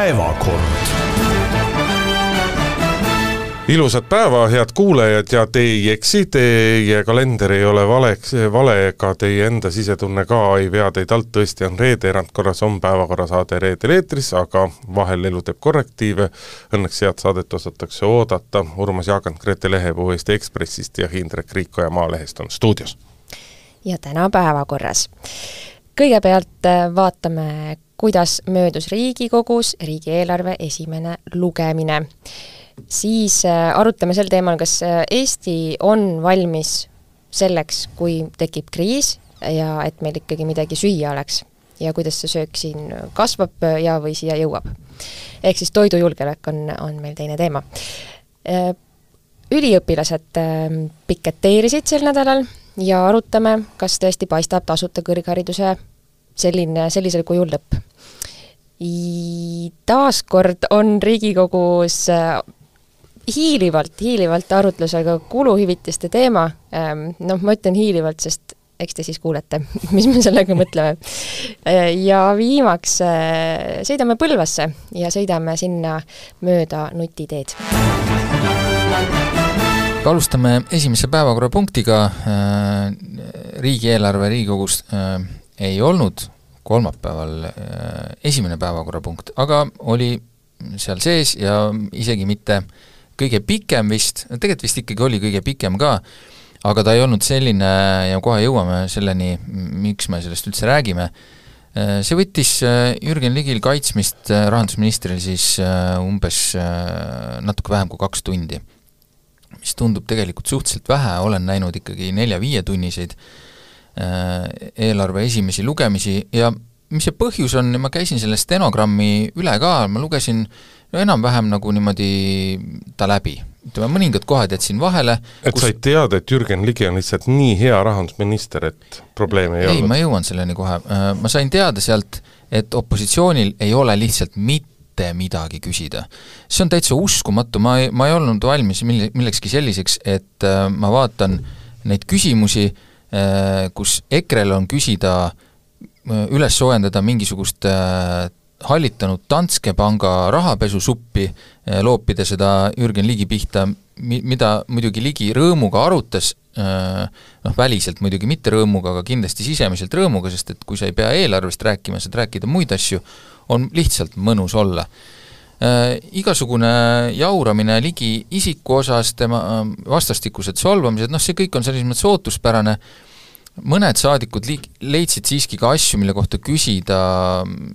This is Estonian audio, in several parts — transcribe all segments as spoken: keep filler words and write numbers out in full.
päevakord. Ilusat päeva, head kuulajad, ja te ei eksi, teie kalender ei ole valeks, vale, ega teie enda sisetunne ka ei vea teid alt, tõesti on reede, erandkorras on päevakorrasaade reedel eetris, aga vahel elu teeb korrektiive. Õnneks head saadet osatakse oodata. Urmas Jaagant Grete Lehepuu Eesti Ekspressist ja Hindrek Riikoja Maalehest on stuudios. Ja täna päevakorras. Kõigepealt vaatame, kuidas möödus Riigikogus riigieelarve esimene lugemine. Siis arutame sel teemal, kas Eesti on valmis selleks, kui tekib kriis ja et meil ikkagi midagi süüa oleks ja kuidas see söök siin kasvab ja või siia jõuab. Ehk siis toidujulgelek on, on meil teine teema. Üliõpilased piketeerisid sel nädalal ja arutame, kas tõesti paistab tasuta kõrghariduse selline, sellisel kujul lõpp. Taaskord on Riigikogus hiilivalt, hiilivalt arutlusega kuluhüvitiste teema. Noh, ma ütlen hiilivalt, sest eks te siis kuulete, mis me sellega mõtleme. Ja viimaks sõidame Põlvasse ja sõidame sinna mööda nutiteed. Alustame esimese päevakorrapunktiga. Riigieelarve Riigikogus ei olnud kolmapäeval esimene päevakorrapunkt, aga oli seal sees ja isegi mitte kõige pikem vist, tegelikult vist ikkagi oli kõige pikem ka, aga ta ei olnud selline ja kohe jõuame selleni, miks me sellest üldse räägime. See võttis Jürgen Ligil kaitsmist rahandusministril siis umbes natuke vähem kui kaks tundi, mis tundub tegelikult suhteliselt vähe, olen näinud ikkagi nelja-viie tunniseid eelarve esimesi lugemisi ja mis see põhjus on, ma käisin selle stenogrammi üle ka, ma lugesin no enam-vähem nagu niimoodi ta läbi. Ütleme, mõningad kohad jätsin vahele. Et kus... sa ei teada, et Jürgen Ligi on lihtsalt nii hea rahandusminister, et probleemi ei, ei olnud? Ei, ma jõuan selleni kohe. Ma sain teada sealt, et opositsioonil ei ole lihtsalt mitte midagi küsida. See on täitsa uskumatu, ma ei, ma ei olnud valmis millekski selliseks, et ma vaatan neid küsimusi, kus Ekrel on küsida üles soojendada mingisugust hallitanud Danske panga rahapesusuppi, loopida seda Jürgen Ligi pihta, mida muidugi Ligi rõõmuga arutas, noh väliselt muidugi mitte rõõmuga, aga kindlasti sisemiselt rõõmuga, sest et kui sa ei pea eelarvest rääkima, saad rääkida muid asju, on lihtsalt mõnus olla. Igasugune jauramine Ligi isiku osas, tema vastastikused solvamised, noh see kõik on selles mõttes ootuspärane. Mõned saadikud leidsid siiski ka asju, mille kohta küsida,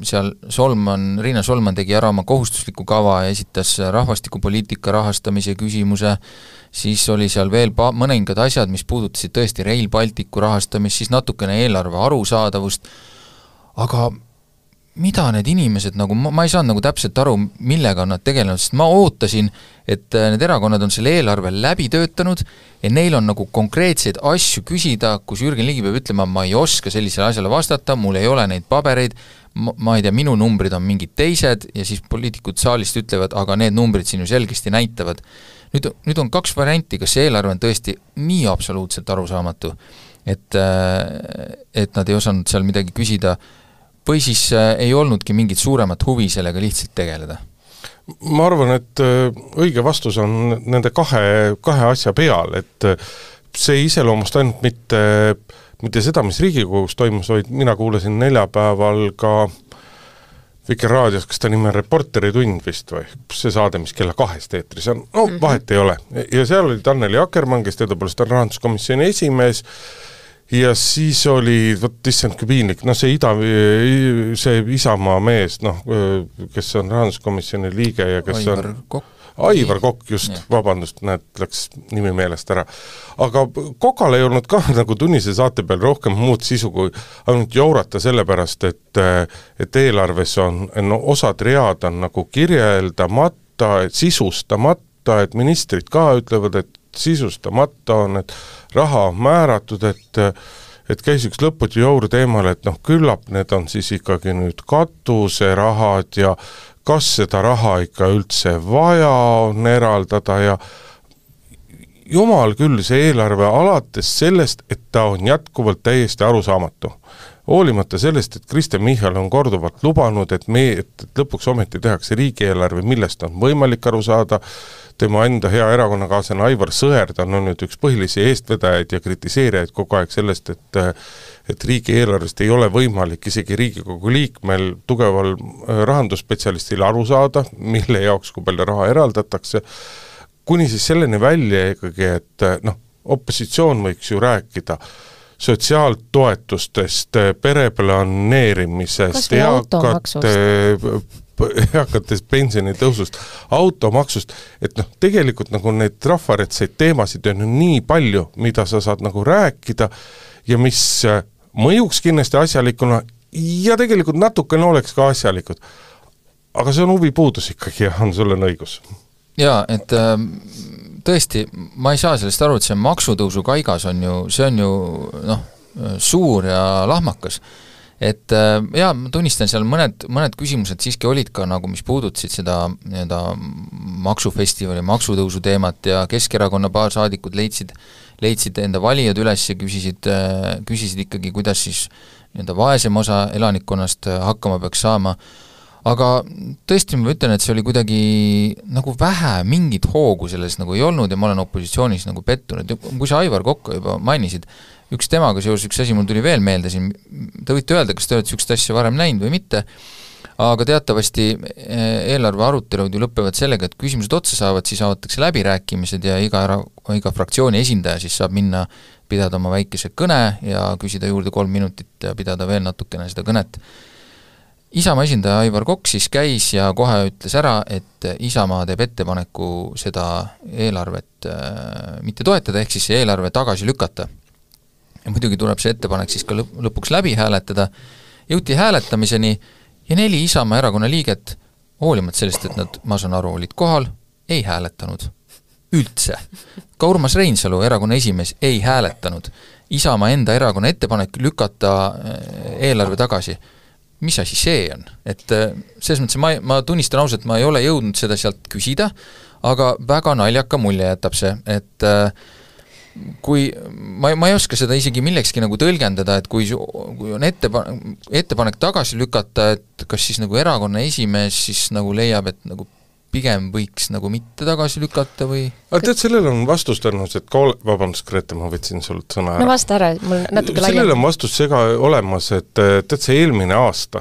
seal Solman, Riina Solman tegi ära oma kohustusliku kava ja esitas rahvastikupoliitika rahastamise küsimuse, siis oli seal veel pa- mõningad asjad, mis puudutasid tõesti Rail Balticu rahastamist, siis natukene eelarve arusaadavust, aga mida need inimesed, nagu ma, ma ei saanud nagu täpselt aru, millega on nad tegelenud, sest ma ootasin, et need erakonnad on selle eelarve läbi töötanud ja neil on nagu konkreetseid asju küsida, kus Jürgen Ligi peab ütlema, ma ei oska sellisele asjale vastata, mul ei ole neid pabereid, ma, ma ei tea, minu numbrid on mingid teised ja siis poliitikud saalist ütlevad, aga need numbrid siin ju selgesti näitavad. Nüüd, nüüd on kaks varianti, kas see eelarve on tõesti nii absoluutselt arusaamatu, et, et nad ei osanud seal midagi küsida, või siis ei olnudki mingit suuremat huvi sellega lihtsalt tegeleda? Ma arvan, et õige vastus on nende kahe, kahe asja peal, et see iseloomust ainult mitte, mitte seda, mis Riigikogus toimus, vaid mina kuulasin neljapäeval ka Vikerraadios, kas ta nime Reporteri tund vist või see saade, mis kella kahest eetris on, no vahet ei ole. Ja seal oli Anneli Akkermann, kes teadupoolest on rahanduskomisjoni esimees, ja siis oli, võt issand kui piinlik, no see, ida, see Isamaa mees, noh, kes on rahanduskomisjoni liige ja kes Aivar on... Kokk. Aivar Kokk, just, ja. Vabandust, näed, läks nimi meelest ära. Aga Kokal ei olnud ka nagu tunnise saate peal rohkem muud sisu, kui ainult jaurata sellepärast, et, et eelarves on, no osad read on nagu kirjeldamata, et sisustamata, et ministrid ka ütlevad, et sisustamata on, et raha on määratud, et, et käis üks lõputi jauru teemal, et noh, küllap need on siis ikkagi nüüd katuserahad ja kas seda raha ikka üldse vaja on eraldada ja jumal küll, see eelarve alates sellest, et ta on jätkuvalt täiesti arusaamatu. hoolimata sellest, et Kristen Michal on korduvalt lubanud, et me, et lõpuks ometi tehakse riigieelarve, millest on võimalik aru saada, tema enda hea erakonnakaaslane Aivar Sõerd on nüüd üks põhilisi eestvedajaid ja kritiseerijaid kogu aeg sellest, et et riigieelarvest ei ole võimalik isegi Riigikogu liikmel tugeval rahandusspetsialistil aru saada, mille jaoks kui palju raha eraldatakse, kuni siis selleni välja ikkagi, et noh, opositsioon võiks ju rääkida sotsiaaltoetustest, pereplaneerimisest, eakate, eakatest pensionitõusust, automaksust, et noh, tegelikult nagu neid rahvaretseid teemasid on nii palju, mida sa saad nagu rääkida ja mis mõjuks kindlasti asjalikuna ja tegelikult natukene oleks ka asjalikud. Aga see on huvipuudus ikkagi ja on sul on õigus. Jaa, et äh, tõesti, ma ei saa sellest aru, et see maksutõusu kaigas on ju, see on ju noh, suur ja lahmakas. Et äh, jaa, ma tunnistan, seal mõned, mõned küsimused siiski olid ka nagu, mis puudutasid seda nii-öelda maksufestivali, maksutõusu teemat ja Keskerakonna paar saadikud leidsid, leidsid enda valijad üles ja küsisid, äh, küsisid ikkagi, kuidas siis nii-öelda vaesem osa elanikkonnast hakkama peaks saama. Aga tõesti ma ütlen, et see oli kuidagi nagu vähe, mingit hoogu selles nagu ei olnud ja ma olen opositsioonis nagu pettunud. Kui sa Aivar Kokka juba mainisid, üks temaga seoses üks asi mul tuli veel meelde siin, te võite öelda, kas te olete sükst asja varem näinud või mitte, aga teatavasti eelarve arutelud ju lõppevad sellega, et küsimused otsa saavad, siis avatakse läbirääkimised ja iga, ära, iga fraktsiooni esindaja siis saab minna pidada oma väikese kõne ja küsida juurde kolm minutit ja pidada veel natukene seda kõnet. Isamaa esindaja Aivar Kokk siis käis ja kohe ütles ära, et Isamaa teeb ettepaneku seda eelarvet äh, mitte toetada, ehk siis see eelarve tagasi lükata. Ja muidugi tuleb see ettepanek siis ka lõpuks läbi hääletada. Jõuti hääletamiseni ja neli Isamaa erakonna liiget, hoolimata sellest, et nad, ma saan aru, olid kohal, ei hääletanud. Üldse. Ka Urmas Reinsalu, erakonna esimees, ei hääletanud. Isamaa enda erakonna ettepanek lükata eelarve tagasi. Mis asi see on? Et selles mõttes ma, ma tunnistan ausalt, ma ei ole jõudnud seda sealt küsida, aga väga naljaka mulje jätab see, et kui ma, ma ei oska seda isegi millekski nagu tõlgendada, et kui, kui on ettepanek, ettepanek tagasi lükata, et kas siis nagu erakonna esimees siis nagu leiab, et nagu pigem võiks nagu mitte tagasi lükata või? Aga tead, sellel on vastus tõenäoliselt, et ka ole, vabandust, Grete, ma võtsin sult sõna ära. No vasta ära, mul natuke laiem. Sellel on vastus sega olemas, et tead, see eelmine aasta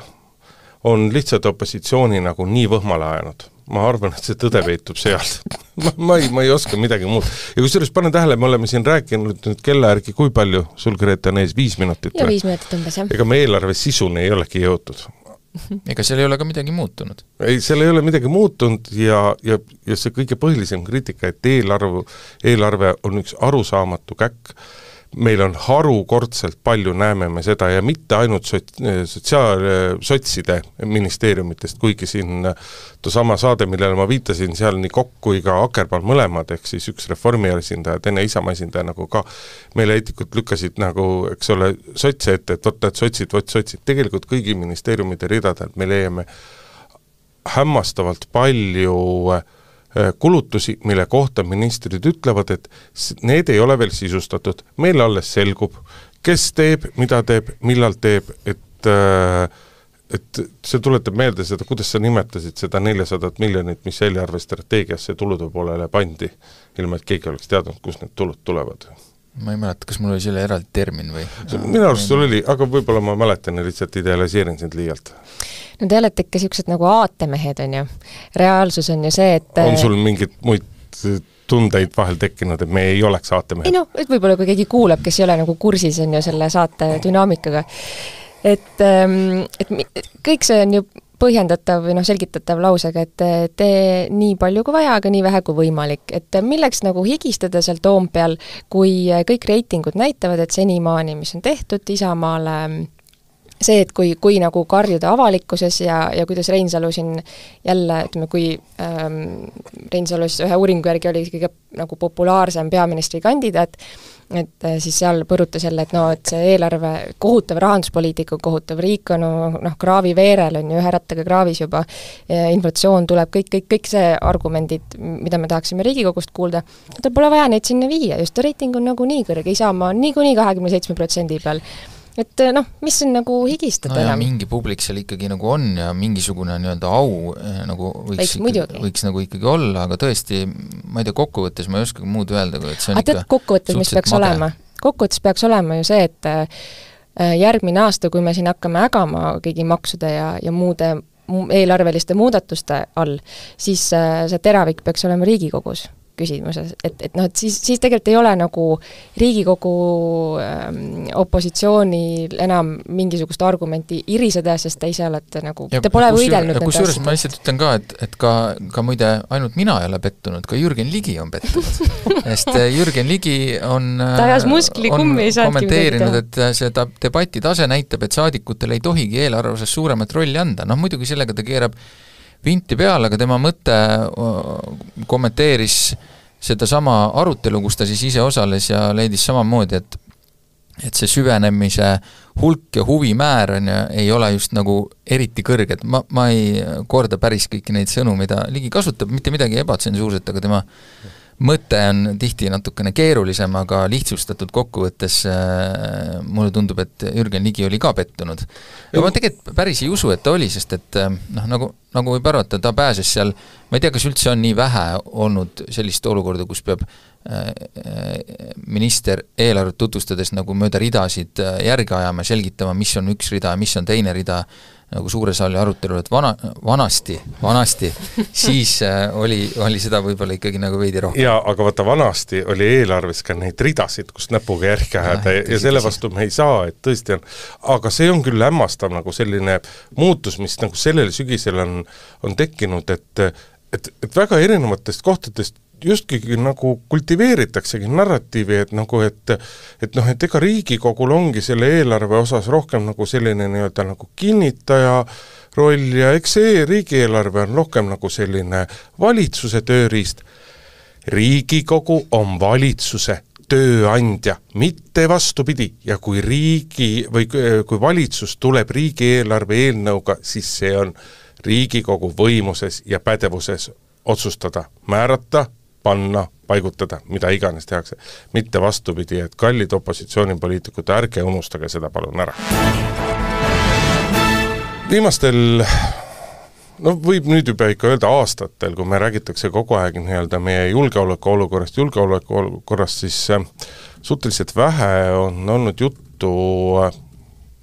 on lihtsalt opositsiooni nagu nii võhmale ajanud. Ma arvan, et see tõde veitub sealt. ma, ma, ei, ma ei oska midagi muud. Ja kui sellest pane tähele, me oleme siin rääkinud nüüd kella järgi, kui palju sul, Grete, on ees viis minutit? Ja viis minutit umbes, jah. Ega me eelarve sisuni ei olegi jõutud. Ega seal ei ole ka midagi muutunud. Ei, seal ei ole midagi muutunud ja, ja, ja see kõige põhilisem kriitika, et eelarve, eelarve on üks arusaamatu käkk. Meil on harukordselt palju, näeme me seda ja mitte ainult sotsiaal, sotside ministeeriumitest, kuigi siin sama saade, millele ma viitasin, seal nii Kokk kui ka Akerpal mõlemad, ehk siis üks reformi esindaja, teine Isamaa esindaja nagu ka meile eetikud lükkasid nagu, eks ole, sotse ette, et võtta, et sotsid, võt sotsid. Tegelikult kõigi ministeeriumide ridadelt me leiame hämmastavalt palju kulutusi, mille kohta ministrid ütlevad, et need ei ole veel sisustatud. Meil alles selgub, kes teeb, mida teeb, millal teeb, et, et see tuletab meelde seda, kuidas sa nimetasid seda neljasada miljonit, mis eelarve strateegiasse tulude poolele pandi, ilma et keegi oleks teadnud, kus need tulud tulevad. Ma ei mäleta, kas mul oli selle eraldi termin või? Minu arust sul oli, aga võib-olla ma mäletan ja lihtsalt idealiseerin sind liialt. No te olete ikka siuksed nagu aatemehed, on ju. Reaalsus on ju see, et on sul mingid muid tundeid vahel tekkinud, et me ei oleks aatemehed? Ei no, et võib-olla kui keegi kuulab, kes ei ole nagu kursis on ju selle saate dünaamikaga. Et, et kõik see on ju põhjendatav või noh, selgitatav lausega, et tee nii palju kui vaja, aga nii vähe kui võimalik. Et milleks nagu higistada seal Toompeal, kui kõik reitingud näitavad, et senimaani, mis on tehtud Isamaale, see, et kui, kui nagu karjuda avalikkuses ja, ja kuidas Reinsalu siin jälle, ütleme, kui ähm, Reinsalus ühe uuringu järgi oli kõige nagu populaarsem peaministri kandidaat, et siis seal põrutas jälle, et no, et see eelarve kohutav rahanduspoliitika, kohutav riik on noh, kraavi veerel on ju ühe rattaga kraavis juba, inflatsioon tuleb, kõik, kõik, kõik see argumendid, mida me tahaksime Riigikogust kuulda, ta pole vaja neid sinna viia, just reiting on nagu nii kõrge, Isamaa on nii kuni kahekümne seitsme protsendi peal. et noh, mis on nagu higistada no enam? mingi publik seal ikkagi nagu on ja mingisugune nii-öelda au nagu võiks, ikkagi, võiks nagu ikkagi olla, aga tõesti, ma ei tea, kokkuvõttes ma ei oska muud öelda, et see on aga ikka kokkuvõttes, mis peaks made. olema? Kokkuvõttes peaks olema ju see, et järgmine aasta, kui me siin hakkame ägama kõigi maksude ja, ja muude eelarveliste muudatuste all, siis see teravik peaks olema Riigikogus küsimuses, et, et noh, et siis, siis tegelikult ei ole nagu Riigikogu ähm, opositsioonil enam mingisugust argumenti iriseda, sest te ise olete nagu, te pole võidelnud nende asjadega. Kusjuures ma lihtsalt ütlen ka, et, et ka, ka muide ainult mina ei ole pettunud, ka Jürgen Ligi on pettunud. Sest Jürgen Ligi on, on kommenteerinud, et see debati tase näitab, et saadikutel ei tohigi eelarve osas suuremat rolli anda. Noh, muidugi sellega ta keerab vinti peale, aga tema mõte kommenteeris seda sama arutelu, kus ta siis ise osales ja leidis samamoodi, et et see süvenemise hulk ja huvimäär on ja ei ole just nagu eriti kõrged. Ma, ma ei korda päris kõiki neid sõnu, mida Ligi kasutab, mitte midagi ebatsensuurset, aga tema mõte on tihti natukene keerulisem, aga lihtsustatud kokkuvõttes äh, mulle tundub, et Jürgen Ligi oli ka pettunud. Ja ma tegelikult päris ei usu, et ta oli, sest et noh, nagu, nagu võib arvata, ta pääses seal, ma ei tea, kas üldse on nii vähe olnud sellist olukorda, kus peab äh, minister eelarvet tutvustades nagu mööda ridasid järgi ajama, selgitama, mis on üks rida ja mis on teine rida, nagu suure saali arutelu, et vana, vanasti, vanasti, siis äh, oli, oli seda võib-olla ikkagi nagu veidi rohkem. Jaa, aga vaata, vanasti oli eelarves ka neid ridasid, kus näpuga järgi ajada ja, ja selle vastu me ei saa, et tõesti on, aga see on küll hämmastav nagu selline muutus, mis nagu sellel sügisel on, on tekkinud, et, et, et väga erinevatest kohtadest justki nagu kultiveeritaksegi narratiivi, et nagu, et et noh, et ega Riigikogul ongi selle eelarve osas rohkem nagu selline nii-öelda nagu kinnitaja roll ja eks see riigieelarve on rohkem nagu selline valitsuse tööriist. Riigikogu on valitsuse tööandja, mitte vastupidi, ja kui riigi või kui valitsus tuleb riigieelarve eelnõuga, siis see on Riigikogu võimuses ja pädevuses otsustada, määrata, panna, paigutada, mida iganes tehakse. Mitte vastupidi, et kallid opositsioonipoliitikud, ärge unustage seda palun ära. Viimastel, no võib nüüd juba ikka öelda aastatel, kui me räägitakse kogu aeg nii-öelda meie julgeoleku olukorrast, julgeoleku olukorrast, siis suhteliselt vähe on olnud juttu,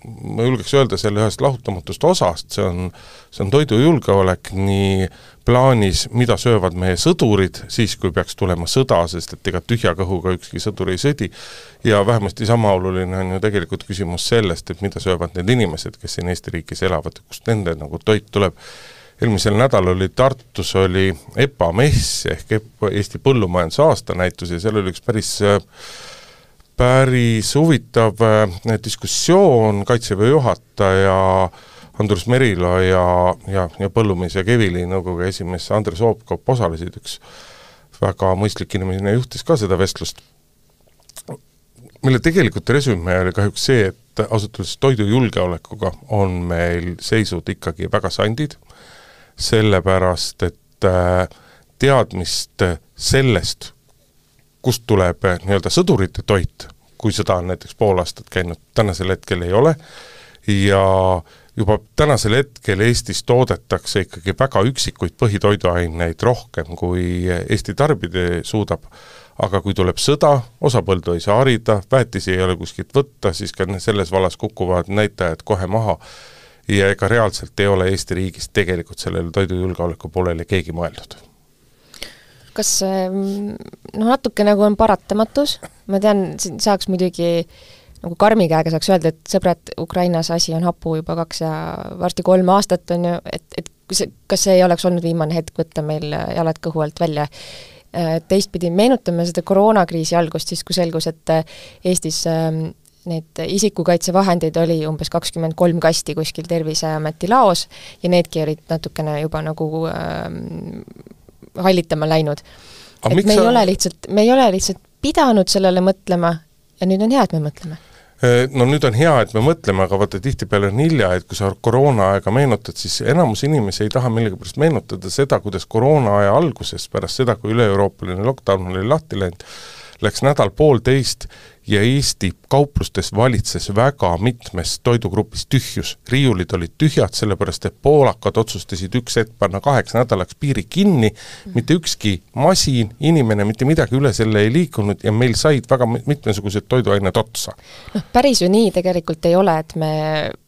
ma julgeks öelda selle ühest lahutamatust osast, see on, see on toidujulgeolek nii plaanis, mida söövad meie sõdurid siis, kui peaks tulema sõda, sest et ega tühja kõhuga ükski sõdur ei sõdi, ja vähemasti sama oluline on ju tegelikult küsimus sellest, et mida söövad need inimesed, kes siin Eesti riigis elavad, kust nende nagu toit tuleb. Eelmisel nädal oli Tartus oli E P A mess ehk Eesti põllumajanduse aastanäitus ja seal oli üks päris päris huvitav diskussioon Kaitseväe juhataja Andrus Merilo ja, ja, ja põllumees ja Kevili nõukogu esimees Andres Oopkop osalesid, üks väga mõistlik inimene juhtis ka seda vestlust, mille tegelikult resümee oli kahjuks see, et ausalt öeldes toidujulgeolekuga on meil seisud ikkagi väga sandid, sellepärast, et teadmist sellest, kust tuleb nii-öelda sõdurite toit, kui seda on näiteks pool aastat käinud, tänasel hetkel ei ole, ja juba tänasel hetkel Eestis toodetakse ikkagi väga üksikuid põhitoiduaineid rohkem, kui Eesti tarbida suudab, aga kui tuleb sõda, osa põldu ei saa harida, väetisi ei ole kuskilt võtta, siis ka selles vallas kukuvad näitajad kohe maha, ja ega reaalselt ei ole Eesti riigis tegelikult sellele toidujulgeoleku poolele keegi mõeldud. Kas noh, natuke nagu on paratamatus, ma tean, saaks muidugi nagu karmi käega saaks öelda, et sõbrad, Ukrainas asi on hapu juba kaks ja varsti kolm aastat on ju, et, et kas see ei oleks olnud viimane hetk võtta meil jalad kõhu alt välja. Teistpidi meenutame seda koroonakriisi algust, siis kui selgus, et Eestis need isikukaitsevahendeid oli umbes kakskümmend kolm kasti kuskil Terviseameti laos ja needki olid natukene juba nagu ähm, hallitama läinud. Et me ei, sa... ole lihtsalt, me ei ole lihtsalt pidanud sellele mõtlema ja nüüd on hea, et me mõtleme. No nüüd on hea, et me mõtleme, aga vaata tihtipeale on hilja, et kui sa koroona aega meenutad, siis enamus inimesi ei taha millegipärast meenutada seda, kuidas koroona aja alguses, pärast seda, kui üle-euroopaline lockdown oli lahti läinud, läks nädal poolteist ja Eesti kauplustes valitses väga mitmes toidugrupis tühjus. Riiulid olid tühjad, sellepärast et poolakad otsustasid üks hetk panna kaheks nädalaks piiri kinni, mitte ükski masin, inimene, mitte midagi üle selle ei liikunud ja meil said väga mitmesugused toiduained otsa. No, päris ju nii tegelikult ei ole, et me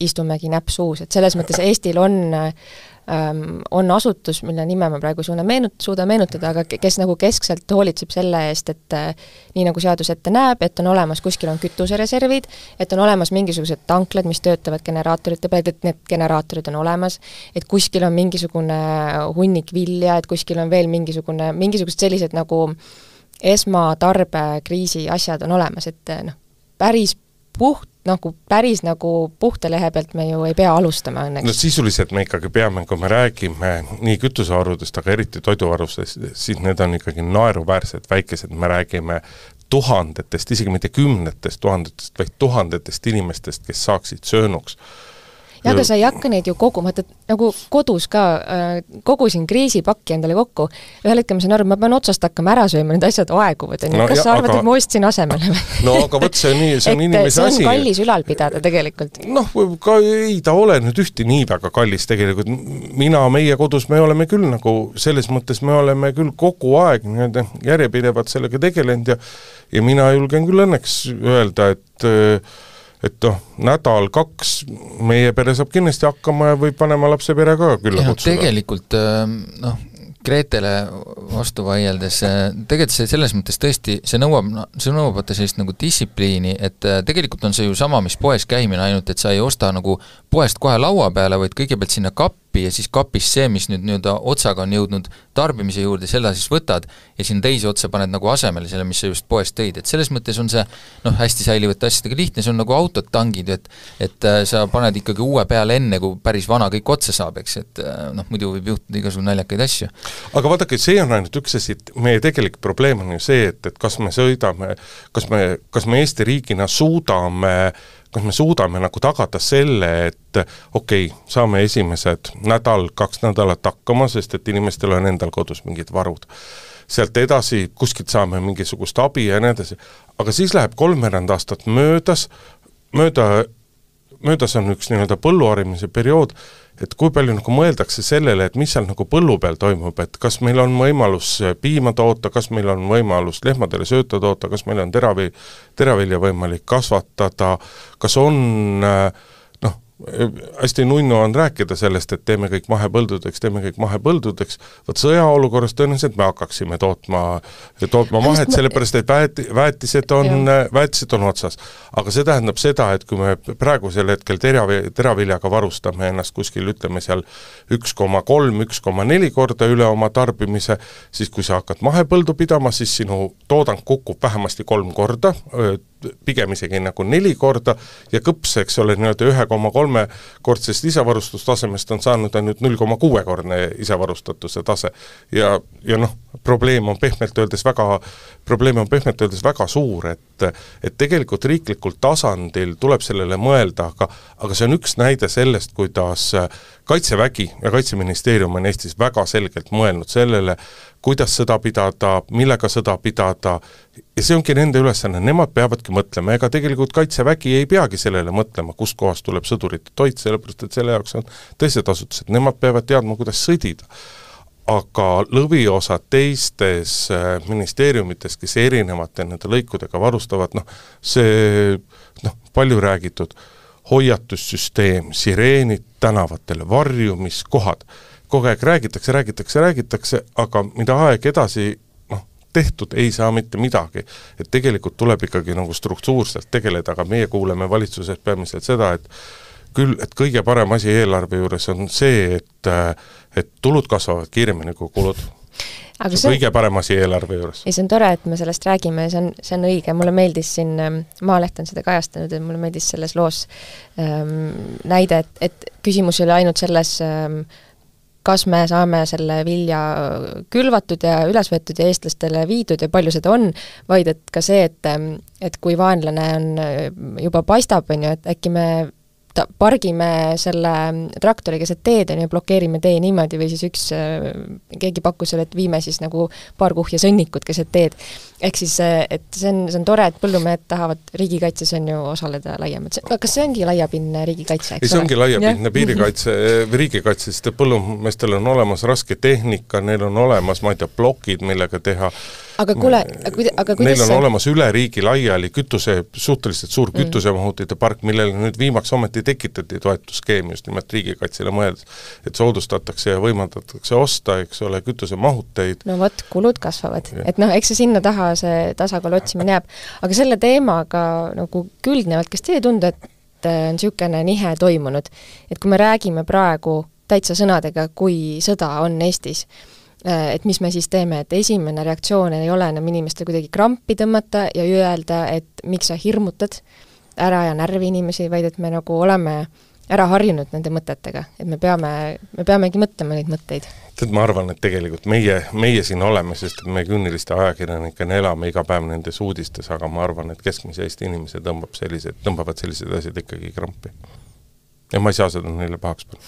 istumegi näpp suus, et selles mõttes Eestil on on asutus, mille nime ma praegu suuna meenut, suuda meenutada, aga kes nagu keskselt hoolitseb selle eest, et nii nagu seadus ette näeb, et on olemas, kuskil on kütusereservid, et on olemas mingisugused tanklad, mis töötavad generaatorite peal, et need generaatorid on olemas, et kuskil on mingisugune hunnik vilja, et kuskil on veel mingisugune, mingisugused sellised nagu esmatarbekriisi asjad on olemas, et noh, päris puht, nagu päris nagu puhta lehe pealt me ju ei pea alustama õnneks. No sisuliselt me ikkagi peame, kui me räägime nii kütusevarudest, aga eriti toiduvarustest, siis need on ikkagi naeruväärsed väikesed, me räägime tuhandetest, isegi mitte kümnetest tuhandetest, vaid tuhandetest inimestest, kes saaksid söönuks. Ja aga sa ei hakka neid ju kogu, vaata nagu kodus ka äh, kogusin kriisipakki endale kokku, ühel hetkel ma saan aru, ma pean otsast hakkama ära sööma, need asjad aeguvad, no, kas ja, sa arvad, aga... et ma ostsin asemele? No aga võt, see on, nii, see on inimese asi. See on kallis ülal pidada tegelikult. Noh, ka ei ta ole nüüd ühti nii väga kallis tegelikult. Mina, meie kodus, me oleme küll nagu, selles mõttes me oleme küll kogu aeg nii-öelda järjepidevad sellega tegelenud ja, ja mina julgen küll õnneks öelda, et et noh, nädal, kaks, meie pere saab kindlasti hakkama ja võib vanema lapse pere ka külla kutsuda. Tegelikult, noh, Gretele vastu vaieldes, tegelikult see selles mõttes tõesti, see nõuab, see nõuab vaata sellist nagu distsipliini, et tegelikult on see ju sama, mis poes käimine, ainult et sa ei osta nagu poest kohe laua peale, vaid kõigepealt sinna kappi ja siis kapis see, mis nüüd nii-öelda otsaga on jõudnud tarbimise juurde, selle siis võtad ja sinna teise otsa paned nagu asemele selle, mis sa just poest tõid, et selles mõttes on see noh, hästi säilivate asjadega lihtne, see on nagu autod tangid, et et sa paned ikkagi uue peale enne, kui päris vana kõik otsa saab, eks, et noh, muidu võib juhtuda igasugune naljakaid asju. Aga vaadake, see on ainult üks asi, meie tegelik probleem on ju see, et, et kas me sõidame, kas me, kas me Eesti riigina suudame kas me suudame nagu tagada selle, et okei, okay, saame esimesed nädal, kaks nädalat hakkama, sest et inimestel on endal kodus mingid varud. Sealt edasi kuskilt saame mingisugust abi ja nii edasi. Aga siis läheb kolmveerand aastat möödas, mööda, möödas on üks nii-öelda põlluharimise periood, et kui palju nagu mõeldakse sellele, et mis seal nagu põllu peal toimub, et kas meil on võimalus piima toota, kas meil on võimalus lehmadele sööta toota, kas meil on teravi, teravilja võimalik kasvatada, kas on noh, hästi nunnu on rääkida sellest, et teeme kõik mahepõldudeks, teeme kõik mahepõldudeks, võt sõjaolukorras tõenäoliselt me hakkaksime tootma, tootma mahet, sellepärast et väet, väetised, on, väetised on otsas. Aga see tähendab seda, et kui me praegusel hetkel terav, teraviljaga varustame ennast kuskil, ütleme seal üks koma kolm, üks koma neli korda üle oma tarbimise, siis kui sa hakkad mahepõldu pidama, siis sinu toodang kukub vähemasti kolm korda, pigem isegi nagu neli korda ja kõps, eks ole, nii-öelda ühe koma kolme kordsest isavarustustasemest on saanud ainult null koma kuue kordne isavarustatuse tase ja, ja noh, probleem on pehmelt öeldes väga, probleem on pehmelt öeldes väga suur, et, et tegelikult riiklikul tasandil tuleb sellele mõelda, aga, aga see on üks näide sellest, kuidas Kaitsevägi ja Kaitseministeerium on Eestis väga selgelt mõelnud sellele, kuidas sõda pidada, millega sõda pidada, ja see ongi nende ülesanne, nemad peavadki mõtlema, ega tegelikult Kaitsevägi ei peagi sellele mõtlema, kust kohast tuleb sõdurite toit, sellepärast et selle jaoks on teised asutused, nemad peavad teadma, kuidas sõdida. Aga lõviosa teistes ministeeriumites, kes erinevate nende lõikudega varustavad, noh, see noh, palju räägitud hoiatussüsteem, sireenid tänavatele, varjumiskohad, kogu aeg räägitakse, räägitakse, räägitakse, aga mida aeg edasi noh, tehtud ei saa mitte midagi. Et tegelikult tuleb ikkagi nagu struktuurselt tegeleda, aga meie kuuleme valitsuses peamiselt seda, et küll, et kõige parem asi eelarve juures on see, et, et tulud kasvavad kiiremini kui kulud. Aga see on kõige parem asi eelarve juures. Ja see on tore, et me sellest räägime, see on, see on õige, mulle meeldis siin, Maaleht on seda kajastanud, et mulle meeldis selles loos ähm, näide, et, et küsimus oli ainult selles ähm, kas me saame selle vilja külvatud ja üles võetud ja eestlastele viidud ja palju seda on, vaid et ka see, et, et kui vaenlane on juba paistab, on ju, et äkki me ta, pargime selle traktori keset teed ja blokeerime tee niimoodi või siis üks, keegi pakkus selle, et viime siis nagu paar kuhja sõnnikut keset teed. Ehk siis, et see on, see on tore, et põllumehed tahavad riigikaitses on ju osaleda laiemalt. Kas see ongi laiapindne riigikaitse? Ei, see ongi laiapindne piirikaitse, riigikaitse, sest põllumeestel on olemas raske tehnika, neil on olemas, ma ei tea, plokid, millega teha. Aga kuule, aga kuidas neil on see... olemas üle riigi laiali kütuse, suhteliselt suur kütusemahutite park, millele nüüd viimaks ometi tekitati toetusskeem just nimelt riigikaitsele mõeldes, et soodustatakse ja võimaldatakse osta, eks ole, kütusemahuteid. No võt, kulud kasvavad. Ja. Et noh, eks see sinna taha see tasakaal otsimine jääb. Aga selle teemaga nagu küldnevalt, kas teie tundu, et on niisugune nihe toimunud? Et kui me räägime praegu täitsa sõnadega, kui sõda on Eestis, et mis me siis teeme, et esimene reaktsioon ei ole enam inimestel kuidagi krampi tõmmata ja öelda, et miks sa hirmutad ära ja närvi inimesi, vaid et me nagu oleme ära harjunud nende mõtetega, et me peame, me peamegi mõtlema neid mõtteid. Tead, ma arvan, et tegelikult meie, meie siin oleme, sest me künniliste ajakirjanikena elame iga päev nendes uudistes, aga ma arvan, et keskmise Eesti inimese tõmbab sellised, tõmbavad sellised asjad ikkagi krampi. Ja ma ei saa seda neile pahaks panna.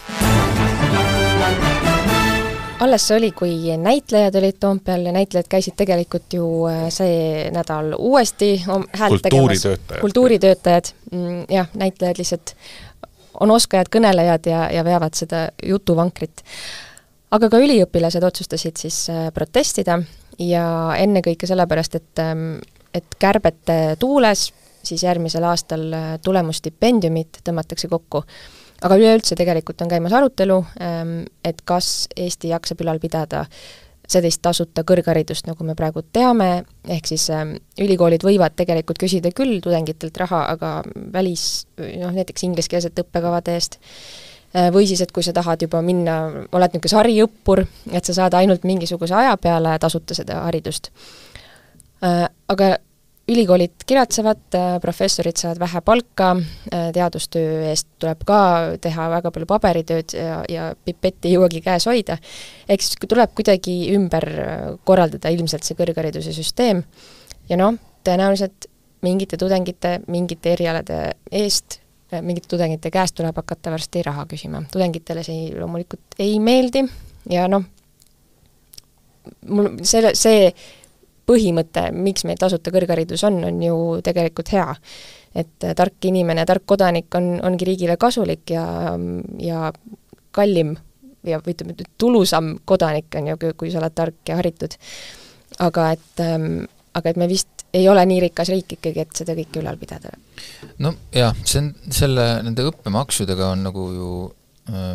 Alles oli, kui näitlejad olid Toompeal ja näitlejad käisid tegelikult ju see nädal uuesti häält tegemas. Kultuuritöötajad. Jah, näitlejad lihtsalt on oskajad, kõnelejad ja, ja veavad seda jutuvankrit. Aga ka üliõpilased otsustasid siis protestida ja ennekõike sellepärast, et, et kärbete tuules siis järgmisel aastal tulemusstipendiumit tõmmatakse kokku. Aga üleüldse tegelikult on käimas arutelu, et kas Eesti jaksab ülal pidada sellist tasuta kõrgharidust, nagu me praegu teame, ehk siis ülikoolid võivad tegelikult küsida küll tudengitelt raha, aga välis, noh, näiteks ingliskeelsete õppekavade eest, või siis, et kui sa tahad juba minna, oled niisugune sariõppur, et sa saad ainult mingisuguse aja peale tasuta seda haridust. Aga ülikoolid kiratsevad, professorid saavad vähe palka, teadustöö eest tuleb ka teha väga palju paberitööd ja, ja pipetti ei jõuagi käes hoida. Ehk siis tuleb kuidagi ümber korraldada ilmselt see kõrghariduse süsteem ja noh, tõenäoliselt mingite tudengite, mingite erialade eest, mingite tudengite käest tuleb hakata varsti raha küsima. Tudengitele see loomulikult ei meeldi ja noh, mul see, see põhimõte, miks meil tasuta kõrgharidus on, on ju tegelikult hea. Et tark inimene, tark kodanik on, ongi riigile kasulik ja, ja kallim ja ütleme, tulusam kodanik on ju, kui sa oled tark ja haritud. Aga et, aga et me vist ei ole nii rikas riik ikkagi, et seda kõike ülal pidada. No jah, see on, selle, nende õppemaksudega on nagu ju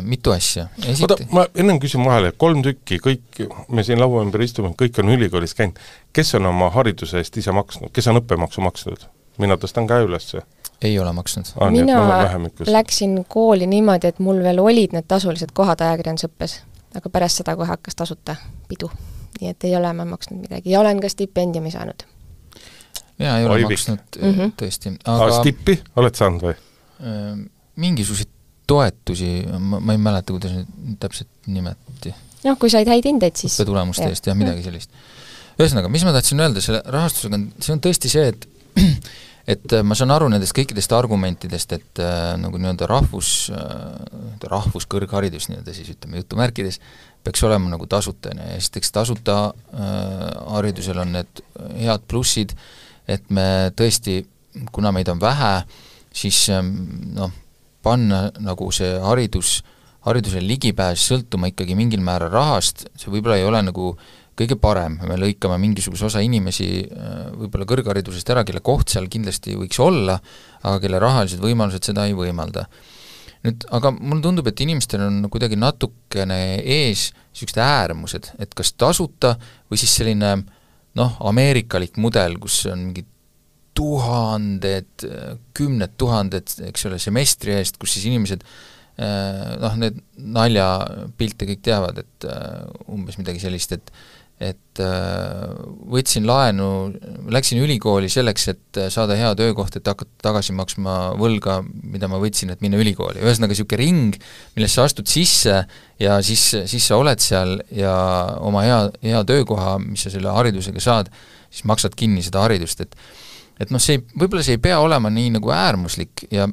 mitu asja. Esiti... Oda, ma ennem küsin vahele, kolm tükki, kõik, me siin laua ümber istume, kõik on ülikoolis käinud. Kes on oma hariduse eest ise maksnud? Kes on õppemaksu maksnud? Mina tõstan käe üles. Ei ole maksnud. Ah, Mina läksin kooli niimoodi, et mul veel olid need tasulised kohad ajakirjandusõppes, aga pärast seda kohe hakkas tasuta pidu. Nii et ei ole ma maksnud midagi. Ja olen ka stipendiumi saanud. Jaa, ei ole Oivik. maksnud mm -hmm. tõesti. Aga... A, stippi oled saanud või? Mingisuguseid toetusi, ma, ma ei mäleta, kuidas nüüd täpselt nimeti. Noh, kui said häid hindeid, siis... Õppetulemuste eest, jah, midagi sellist. Ühesõnaga, mis ma tahtsin öelda selle rahastusega, see on tõesti see, et et ma saan aru nendest kõikidest argumentidest, et äh, nagu nii-öelda rahvus, äh, rahvuskõrgharidus, nii-öelda siis ütleme jutumärkides, peaks olema nagu tasuta. Esiteks tasuta äh, haridusel on need head plussid, et me tõesti, kuna meid on vähe, siis äh, noh, panna nagu see haridus, hariduse ligipääs sõltuma ikkagi mingil määral rahast, see võib-olla ei ole nagu kõige parem, me lõikame mingisuguse osa inimesi võib-olla kõrgharidusest ära, kelle koht seal kindlasti võiks olla, aga kelle rahalised võimalused seda ei võimalda. Nüüd, aga mulle tundub, et inimestel on kuidagi natukene ees niisugused äärmused, et kas tasuta või siis selline noh, ameerikalik mudel, kus on mingi tuhanded, kümned tuhanded, eks ole, semestri eest, kus siis inimesed noh, need naljapilte kõik teavad, et umbes midagi sellist, et et võtsin laenu, läksin ülikooli selleks, et saada hea töökoht, et hakata tagasi maksma võlga, mida ma võtsin, et minna ülikooli. Ühesõnaga niisugune ring, millest sa astud sisse ja siis, siis sa oled seal ja oma hea, hea töökoha, mis sa selle haridusega saad, siis maksad kinni seda haridust, et et noh, see võib-olla see ei pea olema nii nagu äärmuslik ja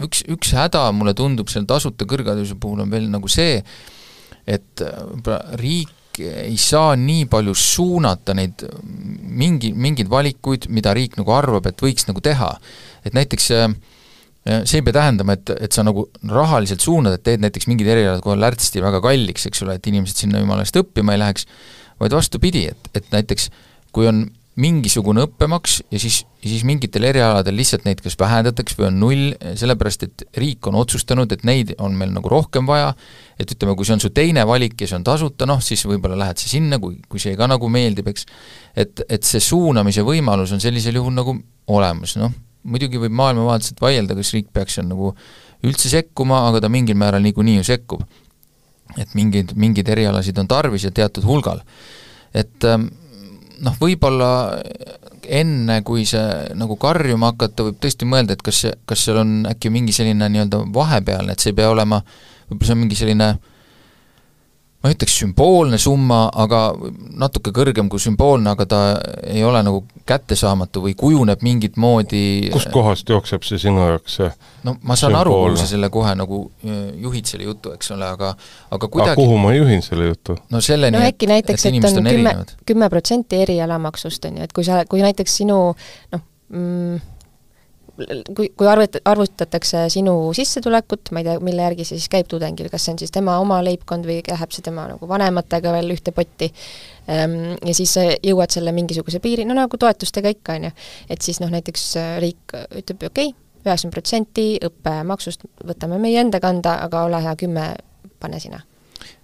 üks, üks häda mulle tundub selle tasuta kõrghariduse puhul on veel nagu see, et riik ei saa nii palju suunata neid mingi, mingeid valikuid, mida riik nagu arvab, et võiks nagu teha. Et näiteks see ei pea tähendama, et, et sa nagu rahaliselt suunad, et teed näiteks mingid erialad kohe lärtsti väga kalliks, eks ole, et inimesed sinna jumalast õppima ei läheks, vaid vastupidi, et, et näiteks kui on mingisugune õppemaks ja siis, ja siis mingitel erialadel lihtsalt neid kas vähendatakse või on null, sellepärast et riik on otsustanud, et neid on meil nagu rohkem vaja, et ütleme, kui see on su teine valik ja see on tasuta, noh, siis võib-olla lähed sa sinna, kui, kui see ka nagu meeldib, eks. Et, et see suunamise võimalus on sellisel juhul nagu olemas, noh, muidugi võib maailmavaatselt vaielda, kas riik peaks seal nagu üldse sekkuma, aga ta mingil määral niikuinii ju sekkub. Et mingid, mingid erialasid on tarvis ja teatud hulgal. Et noh, võib-olla enne, kui see nagu karjuma hakata, võib tõesti mõelda, et kas, kas seal on äkki mingi selline nii-öelda vahepealne, et see ei pea olema, võib-olla see on mingi selline, ma ütleks sümboolne summa, aga natuke kõrgem kui sümboolne, aga ta ei ole nagu kättesaamatu või kujuneb mingit moodi. Kust kohast jookseb see sinu jaoks see? No ma saan aru, kuhu sa selle kohe nagu juhid selle jutu, eks ole, aga, aga kuidagi... Aga kuhu ma juhin selle jutu? No selleni, no äkki näiteks, et, et on kümme, kümme protsenti erialamaksust, on ju, et kui sa, kui näiteks sinu, noh, mm, kui, kui arvut, arvutatakse sinu sissetulekut, ma ei tea, mille järgi see siis käib tudengil, kas see on siis tema oma leibkond või läheb see tema nagu vanematega veel ühte potti, ja siis jõuad selle mingisuguse piiri, no nagu toetustega ikka, on ju, et siis noh, näiteks riik ütleb, okei, üheksakümmend protsenti õppemaksust võtame meie enda kanda, aga ole hea, kümme pane sina.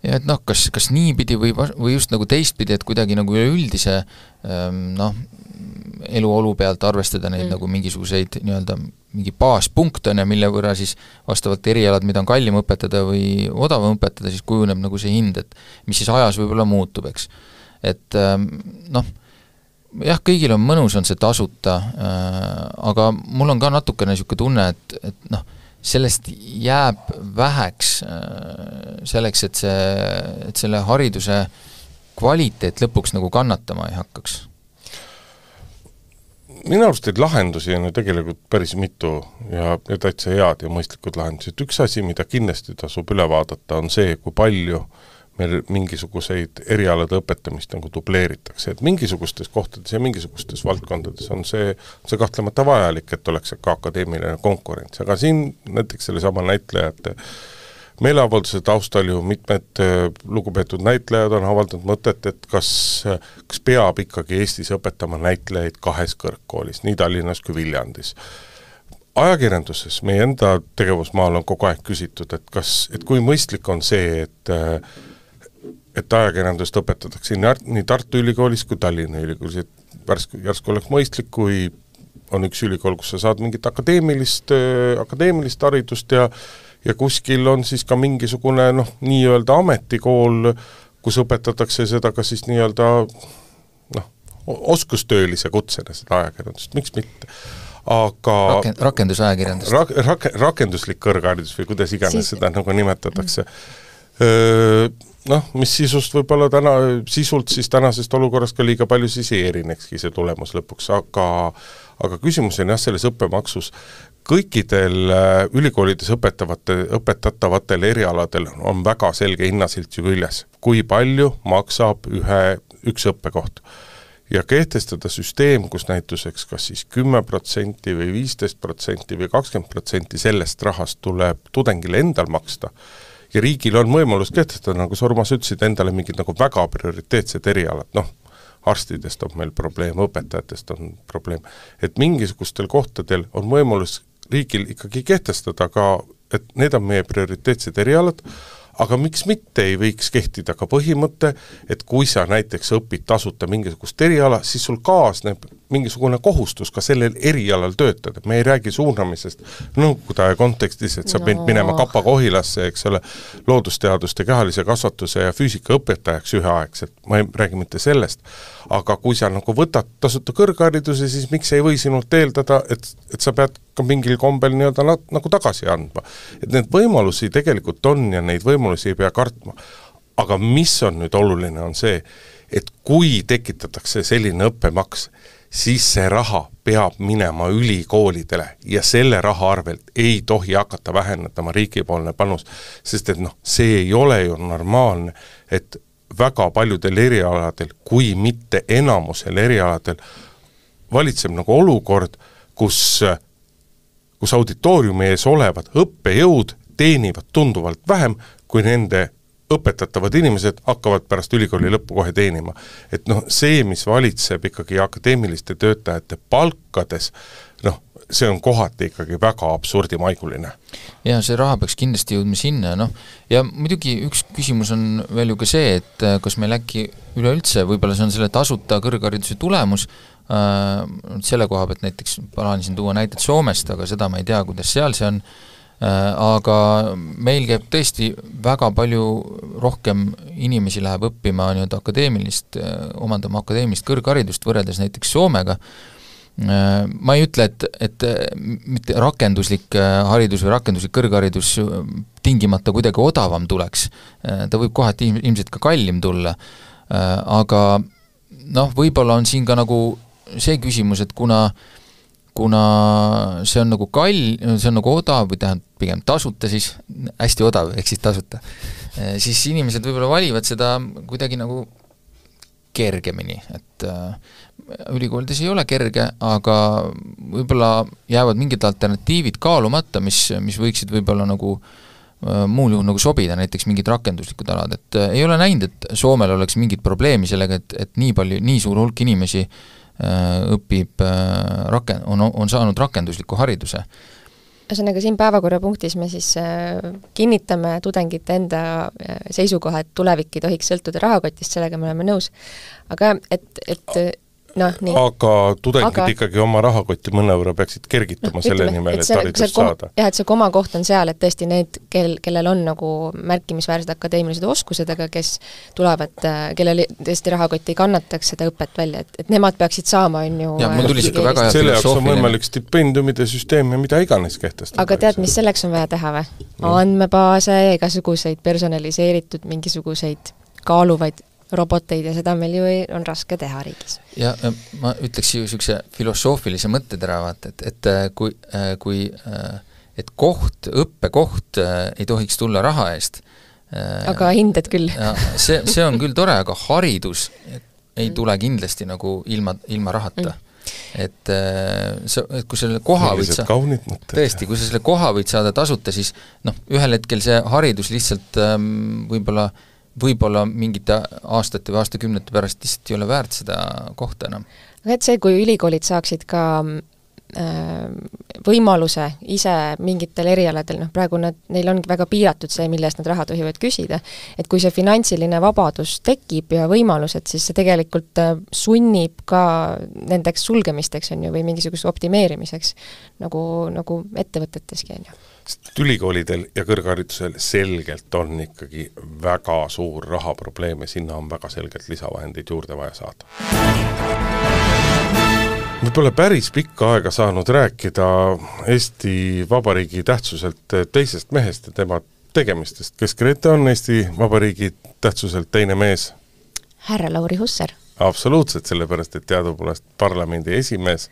Ja et noh, kas, kas niipidi või, või just nagu teistpidi, et kuidagi nagu üleüldise noh, eluolu pealt arvestada neid mm. nagu mingisuguseid nii-öelda mingi baaspunkte, mille võrra siis vastavalt erialad, mida on kallim õpetada või odavam õpetada, siis kujuneb nagu see hind, et mis siis ajas võib-olla muutub, eks. Et noh, jah, kõigil on mõnus, on see tasuta, aga mul on ka natukene niisugune tunne, et, et noh, sellest jääb väheks selleks, et see, et selle hariduse kvaliteet lõpuks nagu kannatama ei hakkaks. Minu arust neid lahendusi on ju tegelikult päris mitu ja, ja täitsa head ja mõistlikud lahendused. Üks asi, mida kindlasti tasub üle vaadata, on see, kui palju meil mingisuguseid erialade õpetamist nagu dubleeritakse, et mingisugustes kohtades ja mingisugustes valdkondades on see, see kahtlemata vajalik, et oleks ka akadeemiline konkurents, aga siin näiteks selle sama näitlejate meeleavalduse taustal ju mitmed lugupeetud näitlejad on avaldanud mõtet, et kas, kas peab ikkagi Eestis õpetama näitlejaid kahes kõrgkoolis, nii Tallinnas kui Viljandis. Ajakirjanduses meie enda tegevusmaal on kogu aeg küsitud, et kas, et kui mõistlik on see, et et ajakirjandust õpetatakse nii Tartu Ülikoolis kui Tallinna Ülikoolis, et järsku, järsku oleks mõistlik, kui on üks ülikool, kus sa saad mingit akadeemilist, akadeemilist haridust ja ja kuskil on siis ka mingisugune noh, nii-öelda ametikool, kus õpetatakse seda ka siis nii-öelda noh, oskustöölise kutsena seda ajakirjandust, miks mitte. Aga Raken, rakendusajakirjandust. Rak, rak, rakenduslik kõrgharidus või kuidas iganes siis... seda nagu nimetatakse. Noh, mis sisust võib-olla täna, sisult siis tänasest olukorrast ka liiga palju siis ei erinekski see tulemus lõpuks, aga, aga küsimus on jah selles õppemaksus. Kõikidel ülikoolides õpetavate, õpetatavatel erialadel on väga selge hinnasilt ju küljes, kui palju maksab ühe, üks õppekoht. Ja kehtestada süsteem, kus näituseks kas siis kümme protsenti või viisteist protsenti või kakskümmend protsenti sellest rahast tuleb tudengile endal maksta, ja riigil on võimalus kehtestada, nagu sa Urmas ütlesid, endale mingid nagu väga prioriteetsed erialad, noh, arstidest on meil probleem, õpetajatest on probleem, et mingisugustel kohtadel on võimalus riigil ikkagi kehtestada ka, et need on meie prioriteetsed erialad, aga miks mitte ei võiks kehtida ka põhimõte, et kui sa näiteks õpid tasuta mingisugust eriala, siis sul kaasneb mingisugune kohustus ka sellel erialal töötada. Me ei räägi suunamisest nõukogude aja kontekstis, et sa pead no. minema Kapa-Kohilasse, eks ole, loodusteaduste, kehalise kasvatuse ja füüsika õpetajaks üheaegselt. Ma ei räägi mitte sellest. Aga kui sa nagu võtad tasuta kõrghariduse, siis miks ei või sinult eeldada, et, et sa pead ka mingil kombel nii-öelda nagu tagasi andma. Et need võimalusi tegelikult on ja neid võimalusi ei pea kartma. Aga mis on nüüd oluline, on see, et kui tekitatakse selline õppemaks, siis see raha peab minema ülikoolidele ja selle raha arvelt ei tohi hakata vähendama riigipoolne panus, sest et noh, see ei ole ju normaalne, et väga paljudel erialadel, kui mitte enamusel erialadel, valitseb nagu olukord, kus, kus auditooriumi ees olevad õppejõud teenivad tunduvalt vähem, kui nende õpetatavad inimesed hakkavad pärast ülikooli lõppu kohe teenima. Et noh, see, mis valitseb ikkagi akadeemiliste töötajate palkades, noh, see on kohati ikkagi väga absurdimaiguline. Ja see raha peaks kindlasti jõudma sinna, noh, ja muidugi üks küsimus on veel ju ka see, et kas meil äkki üleüldse, võib-olla see on selle tasuta kõrghariduse tulemus, äh, selle koha pealt näiteks plaanisin tuua näited Soomest, aga seda ma ei tea, kuidas seal see on, aga meil käib tõesti väga palju rohkem inimesi läheb õppima nii-öelda akadeemilist, omandama akadeemilist kõrgharidust võrreldes näiteks Soomega. Ma ei ütle, et, et mitte rakenduslik haridus või rakenduslik kõrgharidus tingimata kuidagi odavam tuleks. Ta võib kohati ilmselt ka kallim tulla, aga noh, võib-olla on siin ka nagu see küsimus, et kuna kuna see on nagu kall, see on nagu odav või tähendab pigem tasuta siis, hästi odav, ehk siis tasuta, siis inimesed võib-olla valivad seda kuidagi nagu kergemini, et ülikoolides ei ole kerge, aga võib-olla jäävad mingid alternatiivid kaalumata, mis, mis võiksid võib-olla nagu muul juhul nagu sobida, näiteks mingid rakenduslikud alad, et ei ole näinud, et Soomel oleks mingit probleemi sellega, et, et nii palju, nii suur hulk inimesi õpib, raken-, on, on saanud rakendusliku hariduse. Ühesõnaga, siin päevakorrapunktis me siis kinnitame tudengite enda seisukoha, et tulevik ei tohiks sõltuda rahakotist, sellega me oleme nõus. Aga et, et no, nii. Aga tudengid aga... ikkagi oma rahakotti mõnevõrra peaksid kergitama no, selle ütleme, nimel, et, et haridust kom... saada. Jah, et see koma koht on seal, et tõesti need, kel, kellel on nagu märkimisväärsed akadeemilised oskused, aga kes tulevad, kellel tõesti rahakott ei kannataks seda õpet välja, et, et nemad peaksid saama, on ju... Ja, mul tuli siuke väga hea selle jaoks on võimalik stipendiumide süsteem ja mida iganes kehtestada. Aga tead, mis selleks on vaja teha või? No. Andmebaase ja igasuguseid personaliseeritud mingisuguseid kaaluvaid roboteid ja seda meil ju ei, on raske teha riigis. Ja ma ütleks ju niisuguse filosoofilise mõttetera, vaata, et, et kui, kui et koht, õppekoht ei tohiks tulla raha eest. Aga hinded küll. see, see on küll tore, aga haridus ei tule kindlasti nagu ilma, ilma rahata. Mm. Et, sa, et kui selle koha võid sa, tõesti, kui sa selle koha võid saada tasuta, siis noh, ühel hetkel see haridus lihtsalt ähm, võib-olla võib-olla mingite aastate või aastakümnete pärast lihtsalt ei ole väärt seda kohta enam. Aga et see, kui ülikoolid saaksid ka äh, võimaluse ise mingitel erialadel, noh praegu nad, neil ongi väga piiratud see, mille eest nad raha tohivad küsida, et kui see finantsiline vabadus tekib ja võimalused, siis see tegelikult äh, sunnib ka nendeks sulgemisteks on ju, või mingisuguse optimeerimiseks, nagu, nagu ettevõteteski on ju. Ülikoolidel ja kõrgharidusel selgelt on ikkagi väga suur rahaprobleem ja sinna on väga selgelt lisavahendeid juurde vaja saada. Me pole päris pikka aega saanud rääkida Eesti Vabariigi tähtsuselt teisest mehest ja tema tegemistest. Kes Grete on Eesti Vabariigi tähtsuselt teine mees? Härra Lauri Hussar. Absoluutselt, sellepärast, et teadupoolest parlamendi esimees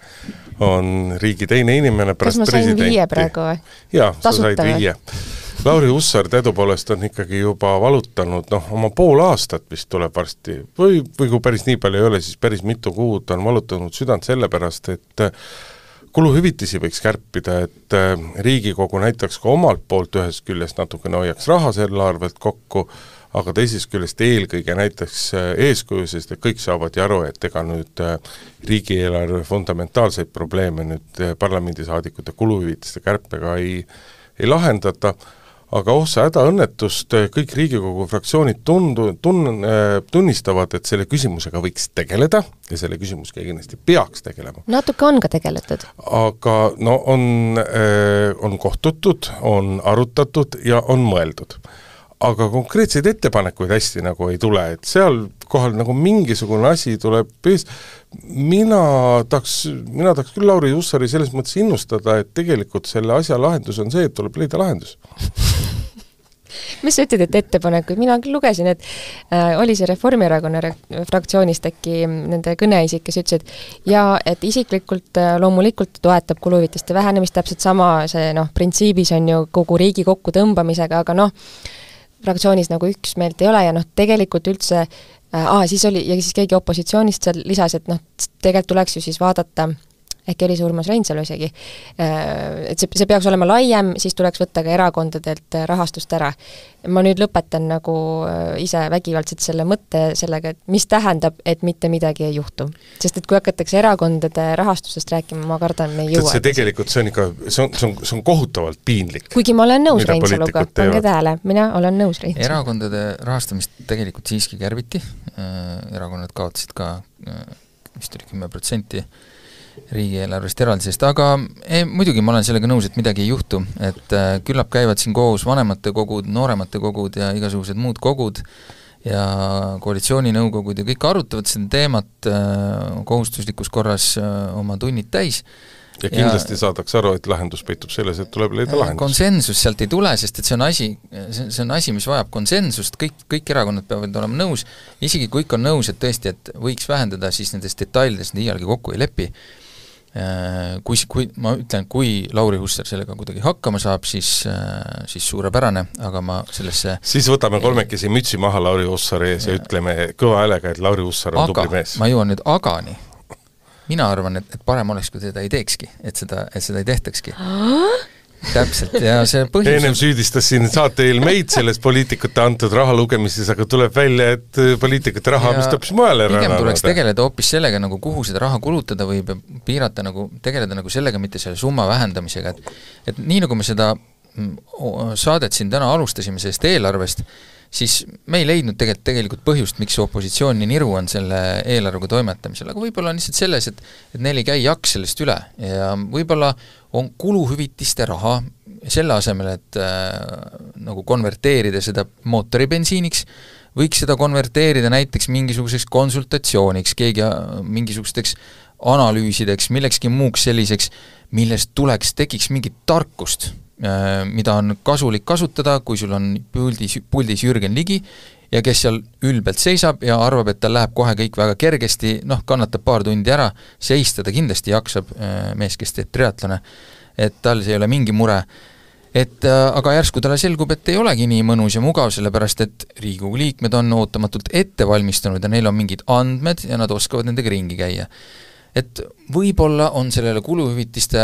on riigi teine inimene pärast presidenti. Kas ma sain viie praegu või? Jaa, sa said viie. Lauri Hussar teadupoolest on ikkagi juba valutanud noh, oma pool aastat vist tuleb varsti, või, või kui päris nii palju ei ole, siis päris mitu kuud on valutanud südant sellepärast, et kuluhüvitisi võiks kärpida, et Riigikogu näitaks ka omalt poolt ühest küljest natukene hoiaks raha selle arvelt kokku, aga teisest küljest eelkõige näiteks eeskuju, sest et kõik saavad ju aru, et ega nüüd riigieelarve fundamentaalseid probleeme nüüd parlamendisaadikute kuluhüvitiste kärpega ei, ei lahendata, aga oh sa hädaõnnetust, kõik Riigikogu fraktsioonid tundu, tun, tunnistavad, et selle küsimusega võiks tegeleda ja selle küsimusega kindlasti peaks tegelema. Natuke on ka tegeletud. Aga no on, on kohtutud, on arutatud ja on mõeldud. Aga konkreetseid ettepanekuid hästi nagu ei tule, et seal kohal nagu mingisugune asi tuleb ees. Mina tahaks, mina tahaks küll Lauri Hussari selles mõttes innustada, et tegelikult selle asja lahendus on see, et tuleb leida lahendus. mis sa ütled, et ettepanekuid, mina küll lugesin, et äh, oli see Reformierakonna re fraktsioonist äkki nende kõneisik, kes ütles, et ja et isiklikult äh, loomulikult toetab kuluhüvitiste vähenemist, täpselt sama see noh, printsiibis on ju kogu riigi kokku tõmbamisega, aga noh, fraktsioonis nagu üksmeelt ei ole ja noh, tegelikult üldse äh, aa, siis oli, ja siis keegi opositsioonist seal lisas, et noh, tegelikult tuleks ju siis vaadata, äkki oli see Urmas Reinsalu isegi, et see, see peaks olema laiem, siis tuleks võtta ka erakondadelt rahastust ära. Ma nüüd lõpetan nagu ise vägivaldselt selle mõtte sellega, et mis tähendab, et mitte midagi ei juhtu. Sest et kui hakatakse erakondade rahastusest rääkima, ma kardan, me ei jõua. See tegelikult, see on ikka, see on, see on, see on kohutavalt piinlik. Kuigi ma olen nõus Reinsaluga, pange tähele, mina olen nõus Reinsaluga. Erakondade rahastamist tegelikult siiski kärbiti, erakonnad kaotasid ka vist oli kümme protsenti riigieelarvest eraldisest, aga ei, muidugi ma olen sellega nõus, et midagi ei juhtu, et äh, küllap käivad siin koos vanemate kogud, nooremate kogud ja igasugused muud kogud ja koalitsiooninõukogud ja kõik arutavad seda teemat äh, kohustuslikus korras äh, oma tunnid täis. Ja kindlasti ja, saadaks aru, et lahendus peitub selles, et tuleb leida lahendus. Konsensus sealt ei tule, sest et see on asi, see on asi, mis vajab konsensust, kõik, kõik erakonnad peavad olema nõus, isegi kui ikka on nõus, et tõesti, et võiks vähendada, siis nendes detailides iialgi kokku ei lepi. Kui, kui, ma ütlen, kui Lauri Hussar sellega kuidagi hakkama saab, siis, siis suurepärane, aga ma sellesse siis võtame kolmekesi mütsi maha Lauri Hussari ees ja, ja ütleme kõva häälega, et Lauri Hussar on aga, tubli mees. Ma jõuan nüüd agani. Mina arvan, et, et parem oleks, kui teda ei teekski, et seda, et seda ei tehtakski. Täpselt, ja see põhjus ennem süüdistas siin saate eel meid selles poliitikute antud raha lugemises, aga tuleb välja, et poliitikute raha, mis tõpis mujale pigem tuleks tegeleda hoopis sellega, nagu kuhu seda raha kulutada või piirata, nagu, tegeleda nagu sellega, mitte selle summa vähendamisega, et, et nii nagu me seda saadet siin täna alustasime sellest eelarvest, siis me ei leidnud tegelikult, tegelikult põhjust, miks opositsioon nii niru on selle eelarvega toimetamisel, aga võib-olla on lihtsalt selles, et, et neil ei käi jaks sellest üle ja võib-olla on kuluhüvitiste raha selle asemel, et äh, nagu konverteerida seda mootoribensiiniks, võiks seda konverteerida näiteks mingisuguseks konsultatsiooniks, keegi mingisugusteks analüüsideks, millekski muuks selliseks, millest tuleks, tekiks mingit tarkust, mida on kasulik kasutada, kui sul on puldis, puldis Jürgen Ligi ja kes seal ülbelt seisab ja arvab, et tal läheb kohe kõik väga kergesti, noh, kannatab paar tundi ära, seista ta kindlasti jaksab, mees, kes teeb triatlone, et tal see ei ole mingi mure. Et aga järsku talle selgub, et ei olegi nii mõnus ja mugav, sellepärast et Riigikogu liikmed on ootamatult ette valmistanud ja neil on mingid andmed ja nad oskavad nendega ringi käia. Et võib-olla on sellele kuluhüvitiste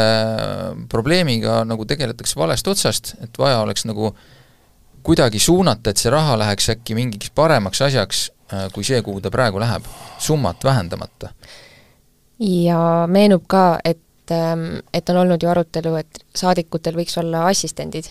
probleemiga nagu tegeletakse valest otsast, et vaja oleks nagu kuidagi suunata, et see raha läheks äkki mingiks paremaks asjaks, kui see, kuhu ta praegu läheb, summat vähendamata. Ja meenub ka, et, et on olnud ju arutelu, et saadikutel võiks olla assistendid,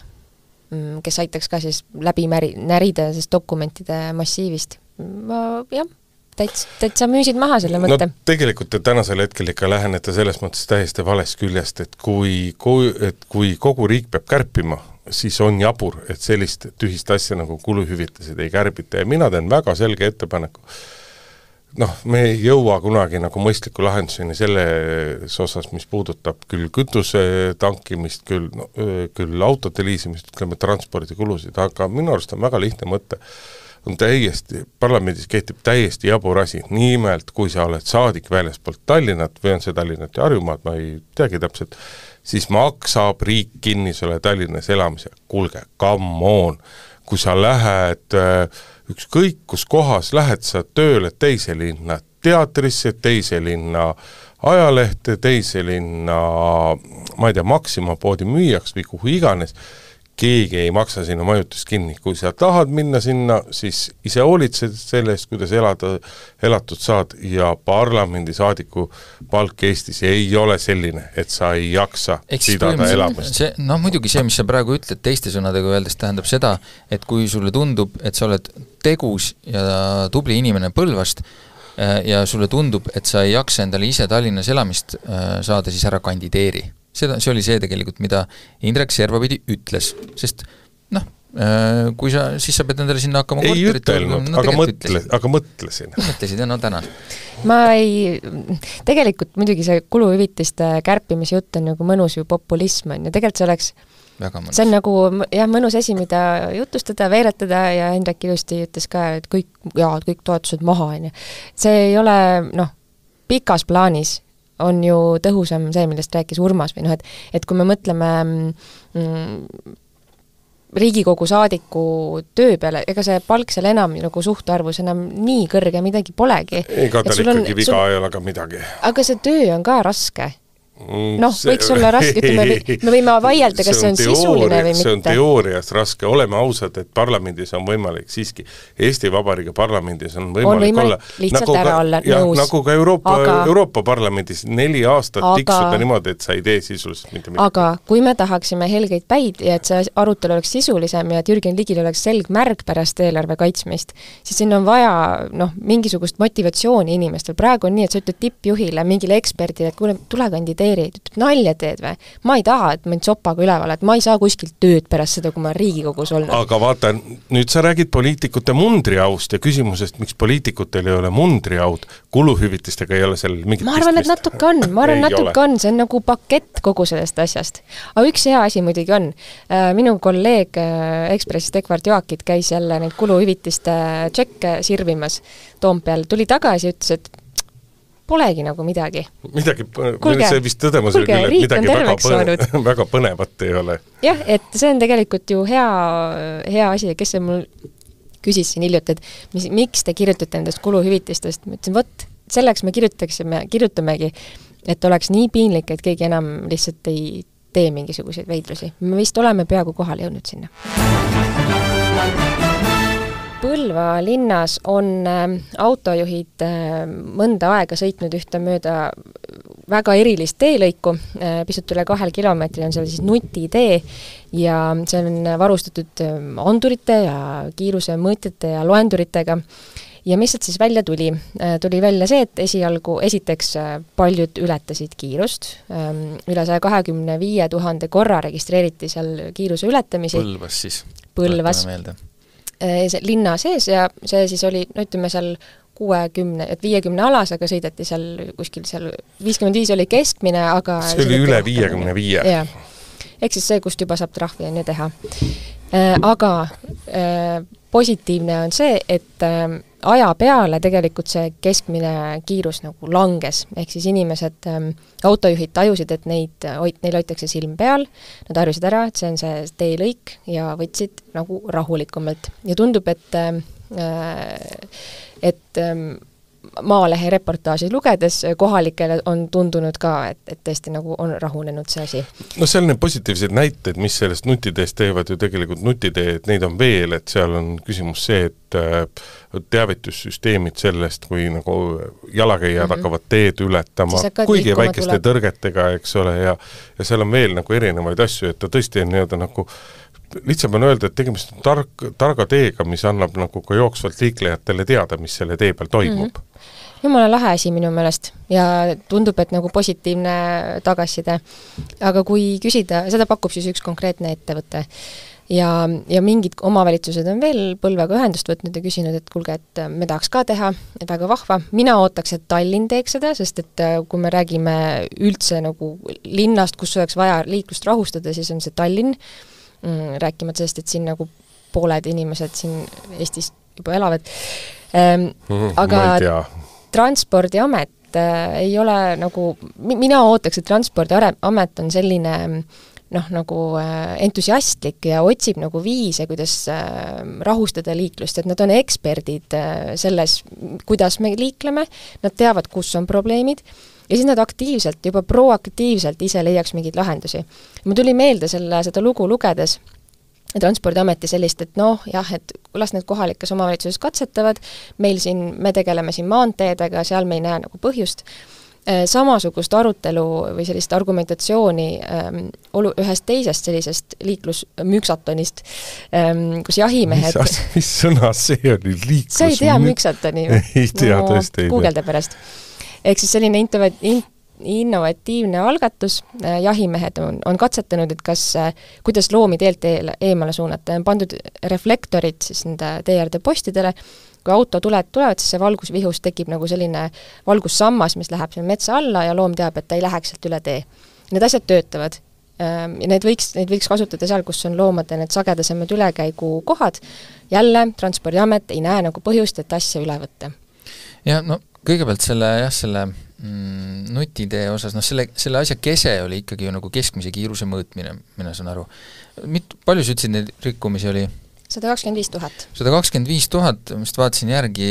kes aitaks ka siis läbi märi, närida sest dokumentide massiivist. Ma, jah, täitsa, täitsa müüsid maha selle mõtte. No tegelikult te tänasel hetkel ikka lähenete selles mõttes täiesti valest küljest, et kui, kui, et kui kogu riik peab kärpima, siis on jabur, et sellist tühist asja nagu kuluhüvitised ei kärbita ja mina teen väga selge ettepaneku. Noh, me ei jõua kunagi nagu mõistliku lahenduseni selles osas, mis puudutab küll kütuse tankimist, küll, no, küll autode liisimist, ütleme transpordikulusid, aga minu arust on väga lihtne mõte. On täiesti, parlamendis kehtib täiesti jabur asi, nimelt kui sa oled saadik väljaspoolt Tallinnat või on see Tallinnat ja Harjumaad, ma ei teagi täpselt, siis maksab riik kinni selle Tallinnas elamise. Kuulge, come on, kui sa lähed ükskõik kus kohas, lähed sa tööle teise linna teatrisse, teise linna ajalehte, teise linna, ma ei tea, Maxima poodi müüjaks või kuhu iganes, keegi ei maksa sinna majutust kinni. Kui sa tahad minna sinna, siis ise hoolitsed selle eest, kuidas elada, elatud saad ja parlamendi saadiku palk Eestis ei ole selline, et sa ei jaksa pidada elamist. See, no muidugi see, mis sa praegu ütled teiste sõnadega öeldes, tähendab seda, et kui sulle tundub, et sa oled tegus ja tubli inimene Põlvast ja sulle tundub, et sa ei jaksa endale ise Tallinnas elamist saada, siis ära kandideeri. Seda, see oli see tegelikult, mida Indrek Servapidi ütles, sest noh, kui sa, siis sa pead endale sinna hakkama ei korterit, ütelnud, no, aga, mõtle, aga mõtlesin. Mõtlesid, no tänan. Ma ei, tegelikult muidugi see kuluhüvitiste kärpimise jutt on nagu mõnus ju populism on ja tegelikult see oleks väga mõnus. See on nagu jah, mõnus asi, mida jutustada, veeretada ja Hendrik ilusti ütles ka, et kõik, jaa, kõik toetused maha, on ju. See ei ole, noh, pikas plaanis on ju tõhusam see, millest rääkis Urmas või noh, et, et kui me mõtleme mm, Riigikogu saadiku töö peale, ega see palk seal enam nagu suhtarvus enam nii kõrge midagi polegi. Ega tal ikkagi on, viga sul... ei ole ka midagi. Aga see töö on ka raske. Noh, võiks olla raske, ütleme, me võime vaielda, kas see on, see on sisuline või mitte. See on teoorias raske, oleme ausad, et parlamendis on võimalik siiski, Eesti Vabariigi parlamendis on võimalik, on võimalik olla lihtsalt nagu ära olla ja, nõus. Nagu ka Euroopa, aga, Euroopa parlamendis neli aastat aga, tiksuda niimoodi, et sa ei tee sisuliselt mitte midagi. Aga kui me tahaksime helgeid päid ja et see arutelu oleks sisulisem ja et Jürgen Ligil oleks selg märg pärast eelarve kaitsmist, siis siin on vaja noh, mingisugust motivatsiooni inimestel. Praegu on nii, et sa ütled tippjuhile, mingile eksperdile, et kuule, tule kandidee ütleb, nalja teed või? Ma ei taha, et mind sopaga üleval, et ma ei saa kuskilt tööd pärast seda, kui ma Riigikogus olnud. Aga vaata, nüüd sa räägid poliitikute mundriaust ja küsimusest, miks poliitikutel ei ole mundriaud, kuluhüvitistega ei ole sellel mingit ma arvan, et natuke on, ma arvan, natuke on, see on nagu pakett kogu sellest asjast. Aga üks hea asi muidugi on, minu kolleeg Ekspressist Ekvart Joakit käis jälle neid kuluhüvitiste tšekke sirvimas Toompeal, tuli tagasi ja ütles, et polegi nagu midagi. Midagi, kulge, see vist tõdemus oli küll, et midagi väga, põne, väga põnevat ei ole. Jah, et see on tegelikult ju hea, hea asi, kes see mul küsis siin hiljuti, et mis, miks te kirjutate nendest kuluhüvitistest, ma ütlesin, võt, selleks me kirjutaksime, kirjutamegi, et oleks nii piinlik, et keegi enam lihtsalt ei tee mingisuguseid veidrusi. Me vist oleme peaaegu kohale jõudnud sinna. Põlva linnas on autojuhid mõnda aega sõitnud ühte mööda väga erilist teelõiku, pisut üle kahel kilomeetril on seal siis nutitee ja see on varustatud andurite ja kiiruse mõõtjate ja loenduritega. Ja mis sealt siis välja tuli? Tuli välja see, et esialgu, esiteks paljud ületasid kiirust, üle saja kahekümne viie tuhande korra registreeriti seal kiiruse ületamisi. Põlvas siis. Põlvas. Linna sees ja see siis oli, no ütleme seal kuuekümne, et viiekümne alas, aga sõideti seal kuskil seal viiskümmend viis oli keskmine, aga see oli üle viiekümne viie. Jah. Ehk siis see, kust juba saab trahvi enne teha. Aga positiivne on see, et aja peale tegelikult see keskmine kiirus nagu langes, ehk siis inimesed, autojuhid tajusid, et neid, neil hoitakse silm peal, nad arvasid ära, et see on see teelõik ja võtsid nagu rahulikumalt. Ja tundub, et, et Maalehe reportaaži lugedes kohalikele on tundunud ka, et, et tõesti nagu on rahunenud see asi. No seal need positiivsed näited, mis sellest nutiteest teevad ju tegelikult nutitee, et neid on veel, et seal on küsimus see, et teavitussüsteemid sellest, kui nagu jalakäijad mm-hmm. hakkavad teed ületama, kuigi väikeste tuleb. Tõrgetega, eks ole, ja, ja seal on veel nagu erinevaid asju, et ta tõesti on nii-öelda nagu lihtsalt on öelda, et tegemist on tark, targa teega, mis annab nagu ka jooksvalt liiklejatele teada, mis selle tee peal toimub. Mm-hmm. Jumala lahe asi minu meelest ja tundub, et nagu positiivne tagasiside. Aga kui küsida, seda pakub siis üks konkreetne ettevõte ja, ja mingid omavalitsused on veel Põlvaga ühendust võtnud ja küsinud, et kuulge, et me tahaks ka teha, et väga vahva. Mina ootaks, et Tallinn teeks seda, sest et kui me räägime üldse nagu linnast, kus oleks vaja liiklust rahustada, siis on see Tallinn. Rääkimata sellest, et siin nagu pooled inimesed siin Eestis juba elavad. Ähm, mm, aga Transpordiamet äh, ei ole nagu, mina ootaks, et Transpordiamet on selline noh, nagu äh, entusiastlik ja otsib nagu viise, kuidas äh, rahustada liiklust, et nad on eksperdid äh, selles, kuidas me liikleme, nad teavad, kus on probleemid ja siis nad aktiivselt, juba proaktiivselt ise leiaks mingeid lahendusi. Ma tuli meelde selle, seda lugu lugedes Transpordiameti sellist, et noh, jah, et las need kohalikes omavalitsuses katsetavad, meil siin, me tegeleme siin maanteedega, seal me ei näe nagu põhjust. Samasugust arutelu või sellist argumentatsiooni ähm, olu, ühest teisest sellisest liiklusmüksatonist, ähm, kus jahimehed... Mis, mis sõna see oli? Liiklus... Sa ei tea müksatoni? Ei tea, no, tõesti ei tea. Googelde pärast. Ehk siis selline intovat, in, innovatiivne algatus, jahimehed on, on katsetanud, et kas, kuidas loomi teelt eemale suunata, on pandud reflektorid siis nende teeäärde postidele, kui auto tuleb, tulevad, siis see valgusvihus tekib nagu selline valgussammas, mis läheb seal metsa alla ja loom teab, et ta ei läheks sealt üle tee. Need asjad töötavad. ja need võiks, neid võiks kasutada seal, kus on loomade need sagedasemad ülekäigu kohad, jälle Transpordiamet ei näe nagu põhjust, et asja üle võtta. Ja no kõigepealt selle, jah, selle mm, nutitee osas, noh selle, selle asja kese oli ikkagi ju nagu keskmise kiiruse mõõtmine, mina saan aru. Mit, palju sa ütlesid neid rikkumisi oli? sada kakskümmend viis tuhat. sada kakskümmend viis tuhat, mis vaatasin järgi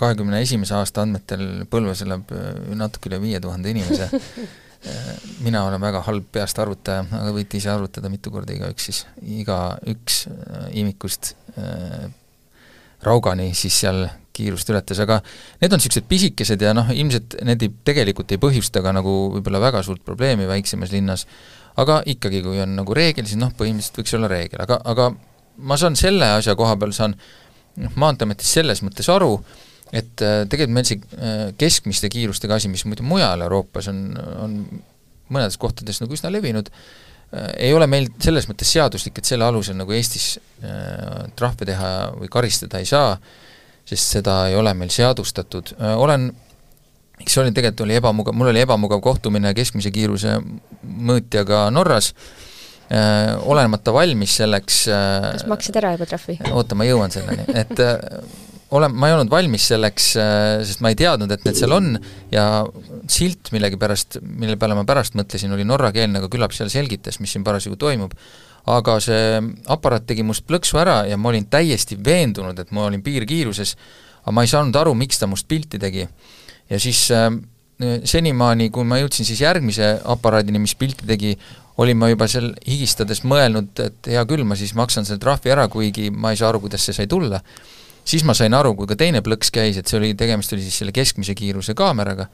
kahekümne esimese aasta andmetel Põlvas elab natuke üle viie tuhande inimese. Mina olen väga halb peast arvutaja, aga võite ise arvutada mitu korda iga üks siis. Iga üks imikust äh, Raugani siis seal kiirust ületas, aga need on sellised pisikesed ja noh, ilmselt need ei, tegelikult ei põhjusta ka nagu võib-olla väga suurt probleemi väiksemas linnas, aga ikkagi, kui on nagu reegel, siis noh, põhimõtteliselt võiks olla reegel, aga, aga ma saan selle asja koha peal, saan Maanteeametis selles mõttes aru, et tegelikult meil see keskmiste kiirustega asi, mis muidu mujal Euroopas on, on mõnedes kohtades nagu üsna levinud, ei ole meil selles mõttes seaduslik, et selle alusel nagu Eestis trahve teha või karistada ei saa, sest seda ei ole meil seadustatud. Olen, eks oli tegelikult oli ebamugav, mul oli ebamugav kohtumine keskmise kiiruse mõõtjaga Norras, Äh, olenemata valmis selleks äh, kas maksid ära juba trahvi? Oota, ma jõuan selleni, et äh, olen, ma ei olnud valmis selleks, äh, sest ma ei teadnud, et need seal on ja silt millegi pärast, mille peale ma pärast mõtlesin, oli norrakeelne, aga küllap seal selgitas, mis siin parasjagu toimub, aga see aparaat tegi must plõksu ära ja ma olin täiesti veendunud, et ma olin piirkiiruses, aga ma ei saanud aru, miks ta must pilti tegi ja siis äh, senimaani, kui ma jõudsin siis järgmise aparaadini, mis pilti tegi, olin ma juba seal higistades mõelnud, et hea küll, ma siis maksan selle trahvi ära, kuigi ma ei saa aru, kuidas see sai tulla. Siis ma sain aru, kui ka teine plõks käis, et see oli, tegemist oli siis selle keskmise kiiruse kaameraga,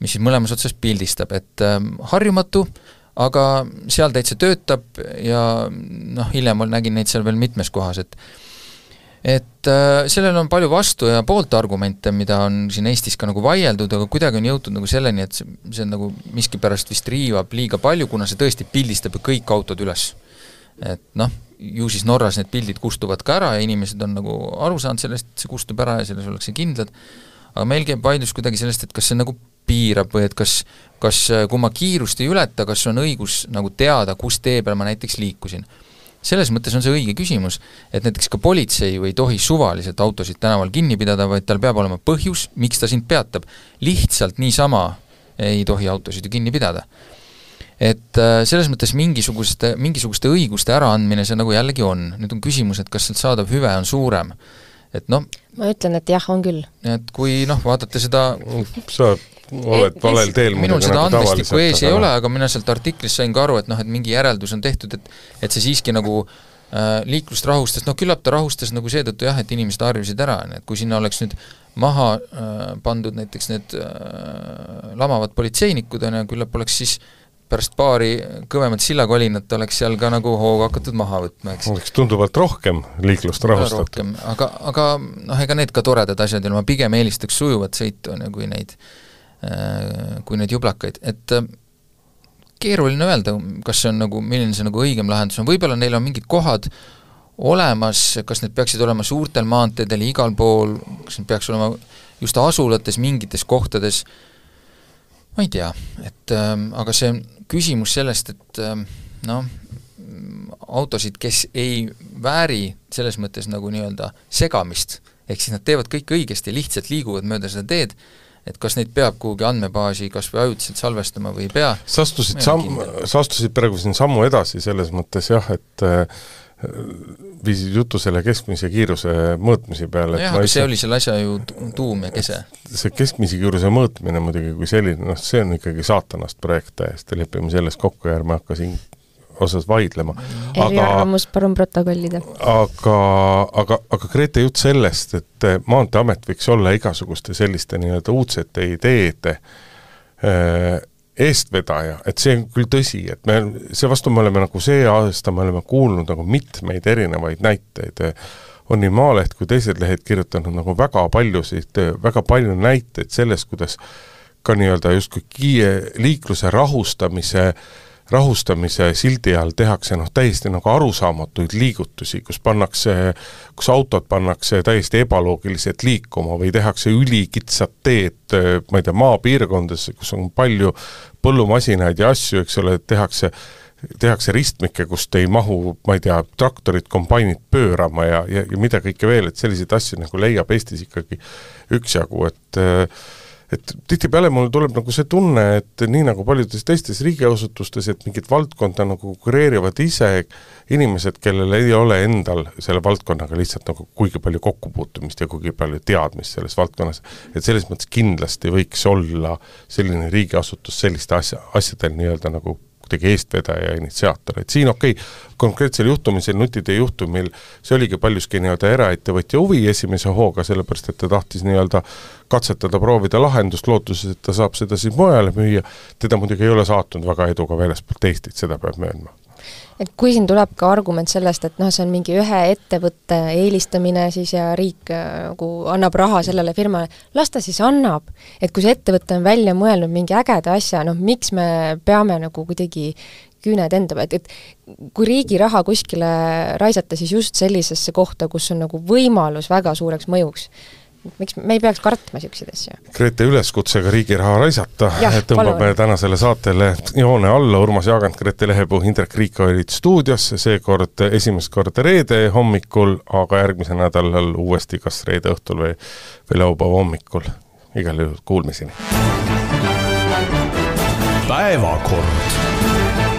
mis siis mõlemas otsas pildistab, et äh, harjumatu, aga seal täitsa töötab ja noh, hiljem nägin neid seal veel mitmes kohas, et et äh, sellel on palju vastu ja poolt argumente, mida on siin Eestis ka nagu vaieldud, aga kuidagi on jõutud nagu selleni, et see, see on nagu miski pärast vist riivab liiga palju, kuna see tõesti pildistab kõik autod üles. Et noh, ju siis Norras need pildid kustuvad ka ära ja inimesed on nagu aru saanud sellest, et see kustub ära ja selles ollakse kindlad, aga meil käib vaidlus kuidagi sellest, et kas see nagu piirab või et kas, kas kui ma kiirust ei ületa, kas on õigus nagu teada, kus tee peal ma näiteks liikusin. Selles mõttes on see õige küsimus, et näiteks ka politsei ei tohi suvaliselt autosid tänaval kinni pidada, vaid tal peab olema põhjus, miks ta sind peatab. Lihtsalt niisama ei tohi autosid ju kinni pidada. Et selles mõttes mingisuguste, mingisuguste õiguste äraandmine see nagu jällegi on. Nüüd on küsimus, et kas sealt saadav hüve on suurem. Et noh, ma ütlen, et jah, on küll. Et kui noh, vaatate seda sa oled valel teel minul seda nagu andmestikku ees ei ole, aga mina sealt artiklis sain ka aru, et noh, et mingi järeldus on tehtud, et, et see siiski nagu äh, liiklust rahustas, noh küllap ta rahustas nagu seetõttu jah, et inimesed harjusid ära, et kui sinna oleks nüüd maha äh, pandud näiteks need äh, lamavad politseinikud, ja küllap oleks siis pärast paari kõvemat sillakolinat oleks seal ka nagu hooga hakatud maha võtma, eks. Oleks tunduvalt rohkem liiklust rahustatud. Aga, aga noh, ega need ka toredad asjad, ja ma pigem eelistaks sujuvat sõitu, kui neid kui neid jublakaid, et keeruline öelda, kas see on nagu, milline see nagu õigem lahendus on, võib-olla neil on mingid kohad olemas, kas need peaksid olema suurtel maanteedel igal pool, kas need peaks olema just asulates mingites kohtades, ma ei tea, et äh, aga see küsimus sellest, et äh, noh, autosid, kes ei vääri selles mõttes nagu nii-öelda segamist, ehk siis nad teevad kõik õigesti, lihtsalt liiguvad mööda seda teed, et kas neid peab kuhugi andmebaasi kas või ajutiselt salvestama või ei pea. Sa astusid, samm, sa astusid praegu siin sammu edasi selles mõttes jah, et äh, viisid jutu selle keskmise kiiruse mõõtmise peale. No jah, aga see oli selle asja ju tuum ja kese. See keskmise kiiruse mõõtmine muidugi kui selline, noh see on ikkagi saatanast projekt täiesti, lepime selles kokku ja ärme hakka siin osas vaidlema. Eriarvamus palun protokollida. Aga, aga, aga Grete jutt sellest, et Maanteeamet võiks olla igasuguste selliste nii-öelda uudsete ideede eestvedaja, et see on küll tõsi, et me, see vastu me oleme nagu see aasta, me oleme kuulnud nagu mitmeid erinevaid näiteid, on nii Maaleht kui teised lehed kirjutanud nagu väga paljusid, väga palju näiteid sellest, kuidas ka nii-öelda justkui kiie liikluse rahustamise rahustamise sildi all tehakse noh, täiesti nagu arusaamatuid liigutusi, kus pannakse, kus autod pannakse täiesti ebaloogiliselt liikuma või tehakse ülikitsad teed, ma ei tea, maapiirkondades, kus on palju põllumasinaid ja asju, eks ole, tehakse tehakse ristmikke, kust ei mahu, ma ei tea, traktorid, kombainid pöörama ja, ja, ja mida kõike veel, et selliseid asju nagu leiab Eestis ikkagi üksjagu, et et tihtipeale mul tuleb nagu see tunne, et nii nagu paljudes teistes riigiasutustes, et mingid valdkonda nagu kureerivad ise inimesed, kellel ei ole endal selle valdkonnaga lihtsalt nagu kuigi palju kokkupuutumist ja kuigi palju teadmist selles valdkonnas, et selles mõttes kindlasti võiks olla selline riigiasutus selliste asja, asjadel nii-öelda nagu kuidagi eestvedaja ja initsiaator, et siin okei, okay, konkreetsel juhtumisel nutide juhtumil see oligi paljuski nii-öelda eraettevõtja huvi esimese hooga, sellepärast et ta tahtis nii-öelda katsetada, proovida lahendust lootuses, et ta saab seda siis mujale müüa, teda muidugi ei ole saatnud väga eduga väljaspool Eestit, seda peab möönma. Et kui siin tuleb ka argument sellest, et noh, see on mingi ühe ettevõtte eelistamine siis ja riik nagu annab raha sellele firmale, las ta siis annab. Et kui see ettevõte on välja mõelnud mingi ägeda asja, noh miks me peame nagu kuidagi küüned enda, et, et kui riigi raha kuskile raisata, siis just sellisesse kohta, kus on nagu võimalus väga suureks mõjuks. Miks me ei peaks kartma siukseid asju? Grete üleskutsega riigi raha raisata, Jah, tõmbame palun. tänasele saatele joone alla, Urmas Jaagant, Grete Lehepuu, Indrek Riik olid stuudios, seekord esimest korda reede hommikul, aga järgmise nädalal uuesti kas reede õhtul või, või laupäeva hommikul. Igal juhul kuulmiseni. Päevakord.